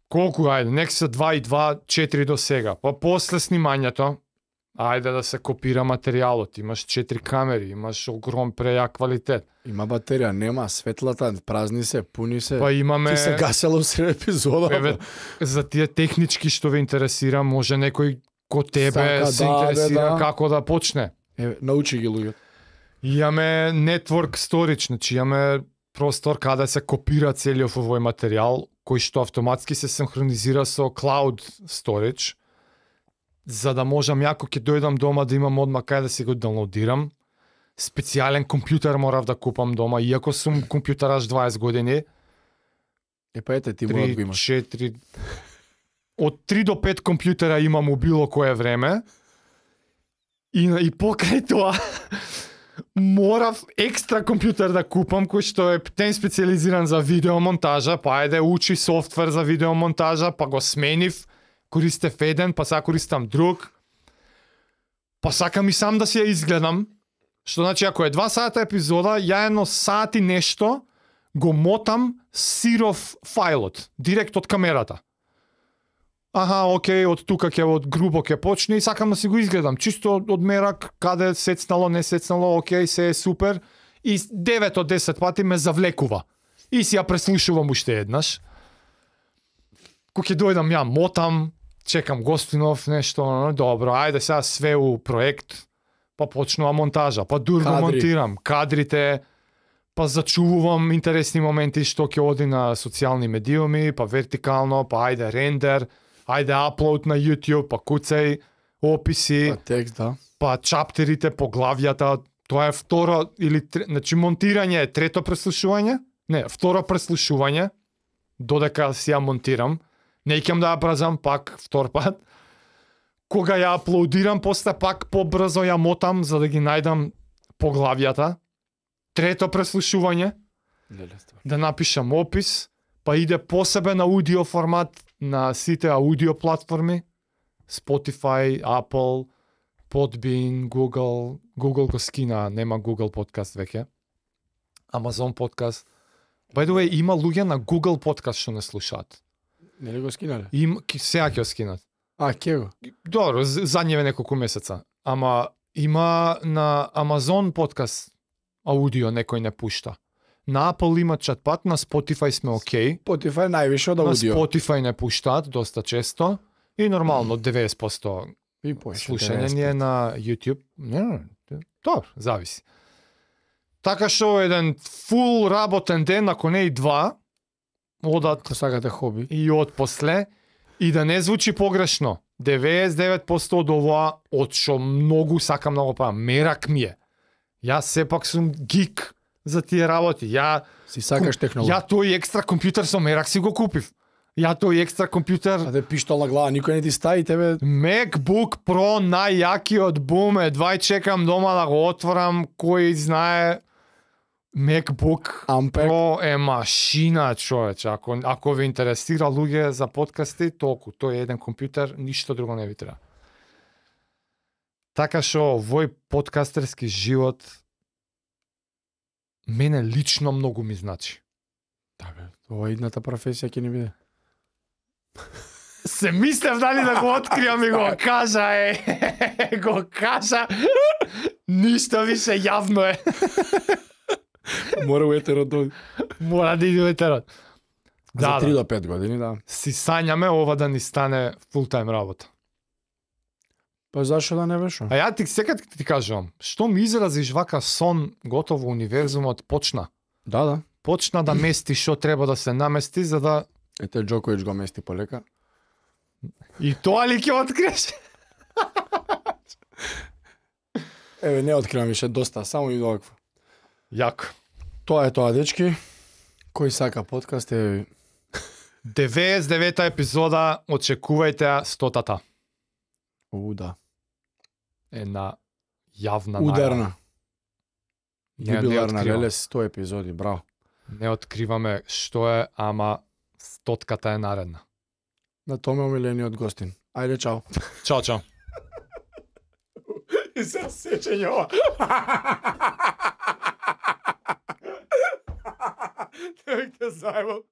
Колку, ајде, нек се два и два, четири до сега. Па после снимањето, ајде да се копира материјалот, имаш четири камери, имаш огром прејак квалитет. Има батерија, нема светлата, празни се, пуни се. Па имаме, Ти се гасело сред епизода. еве, за тие технички што ве интересира, може некој ко тебе Сака, се да, интересира да, да. како да почне. Еве, научи ги луѓето. Имаме network storage, значи имаме простор каде се копира целиот овој материјал, кој што автоматски се синхронизира со cloud storage, за да можам јако ќе дојдам дома да имам одма кај да си го даунлодирам. Специјален компјутер морав да купам дома, иако сум компјутераш дваесет години. Е па ете ти мора да го три, имаш. четири Од три до пет компјутера имам у било кое време. И, и покрај тоа морав екстра компјутер да купам кој што е птен специализиран за видеомонтажа, па ајде учи софтвер за видеомонтажа, па го сменив, користев еден, па сега користам друг. Па сакам и сам да си ја изгледам. Што значи ако е два сата епизода, ја едно сат и нешто го мотам сиров фајлот, директ од камерата. Аха, окей, од тука ќе од грубо ќе почне и сакам да си го изгледам. Чисто од мерак, каде сецнало, не сецнало, окей, се е супер. И девет од десет пати ме завлекува. И си ја преслушувам уште еднаш. Кога ќе дојдам ја мотам, чекам гостинов, нешто, но, добро, ајде сега све у проект, па почнува монтажа, па дур го Кадри. монтирам, кадрите, па зачувувам интересни моменти што ќе оди на социјални медиуми, па вертикално, па ајде рендер, ајде аплод на YouTube, па куцај, описи, Па текст, да. па чаптерите, поглавјата, тоа е второ или тре, значи монтирање е трето преслушување, не, второ преслушување, додека си ја монтирам, не икам да ја бразам пак втор пат. Кога ја аплодирам, после пак побрзо ја мотам за да ги најдам поглавјата. Трето преслушување, Леле ствар. да напишам опис, па иде посебен аудио формат на сите аудио платформи, Spotify, Apple, Podbean, Google, Google го скина, нема Google подкаст веќе. Amazon подкаст. By the way, има луѓе на Google подкаст што не слушаат. Нели го скинале? Им ки- сега ќе го скинат. А, ке го. Добро, з- задневе неколку месеца. Ама има на Amazon подкаст аудио некој не пушта. На Apple има чатпат, на Spotify сме окей. Spotify највише од На аудио. Spotify не пуштаат доста често. И нормално деведесет проценти И поише, слушање ни е на YouTube. Не, не, не, добро, зависи. Така што еден фул работен ден, ако не и два, одат Ако сакате хоби. и од после, и да не звучи погрешно, деветдесет и девет проценти од ова, од што многу сакам да го правам, мерак ми е. Јас сепак сум гик за тие работи. Ја Си сакаш технологија. Ја тој екстра компјутер со мерак си го купив. Ја тој екстра компјутер А те пиштол на глава, никој не ти стави тебе. MacBook Pro најјакиот бум, едва и чекам дома да го отворам, кој знае MacBook Ampeg. Pro е машина, човече. Ако ако ви интересира луѓе за подкасти, толку, тој е еден компјутер, ништо друго не ви треба. Така што овој подкастерски живот мене лично многу ми значи. Да бе, ова е идната професија ќе ни биде. Се мислев дали да го откриам и го кажа, е, го кажа. Ништо више јавно е. Мора у етерот да... Мора да иде етерот. За Да, три да. до пет години, да. Си сањаме ова да ни стане фултайм работа. Па зашо да не беше? А ја ти секад ти кажувам, што ми изразиш вака сон, готово универзумот почна. Да, да. Почна да мести што треба да се намести, за да... Ете, Джокович го мести полека. И тоа ли ќе откриеш? Еве, не откривам више доста, само и овакво. Јако. Тоа е тоа, дечки. Кој сака подкаст е... деветдесет и девета епизода, очекувајте ја стотата. У, да. Една јавна најава. Ударна. Не, не Јубиларна, откривам. леле, сто епизоди, браво. Не откриваме што е, ама стотката е наредна. На томе омилениот гостин. Ајде, чао. Чао, чао. И се сеќање ова. Те зајбал.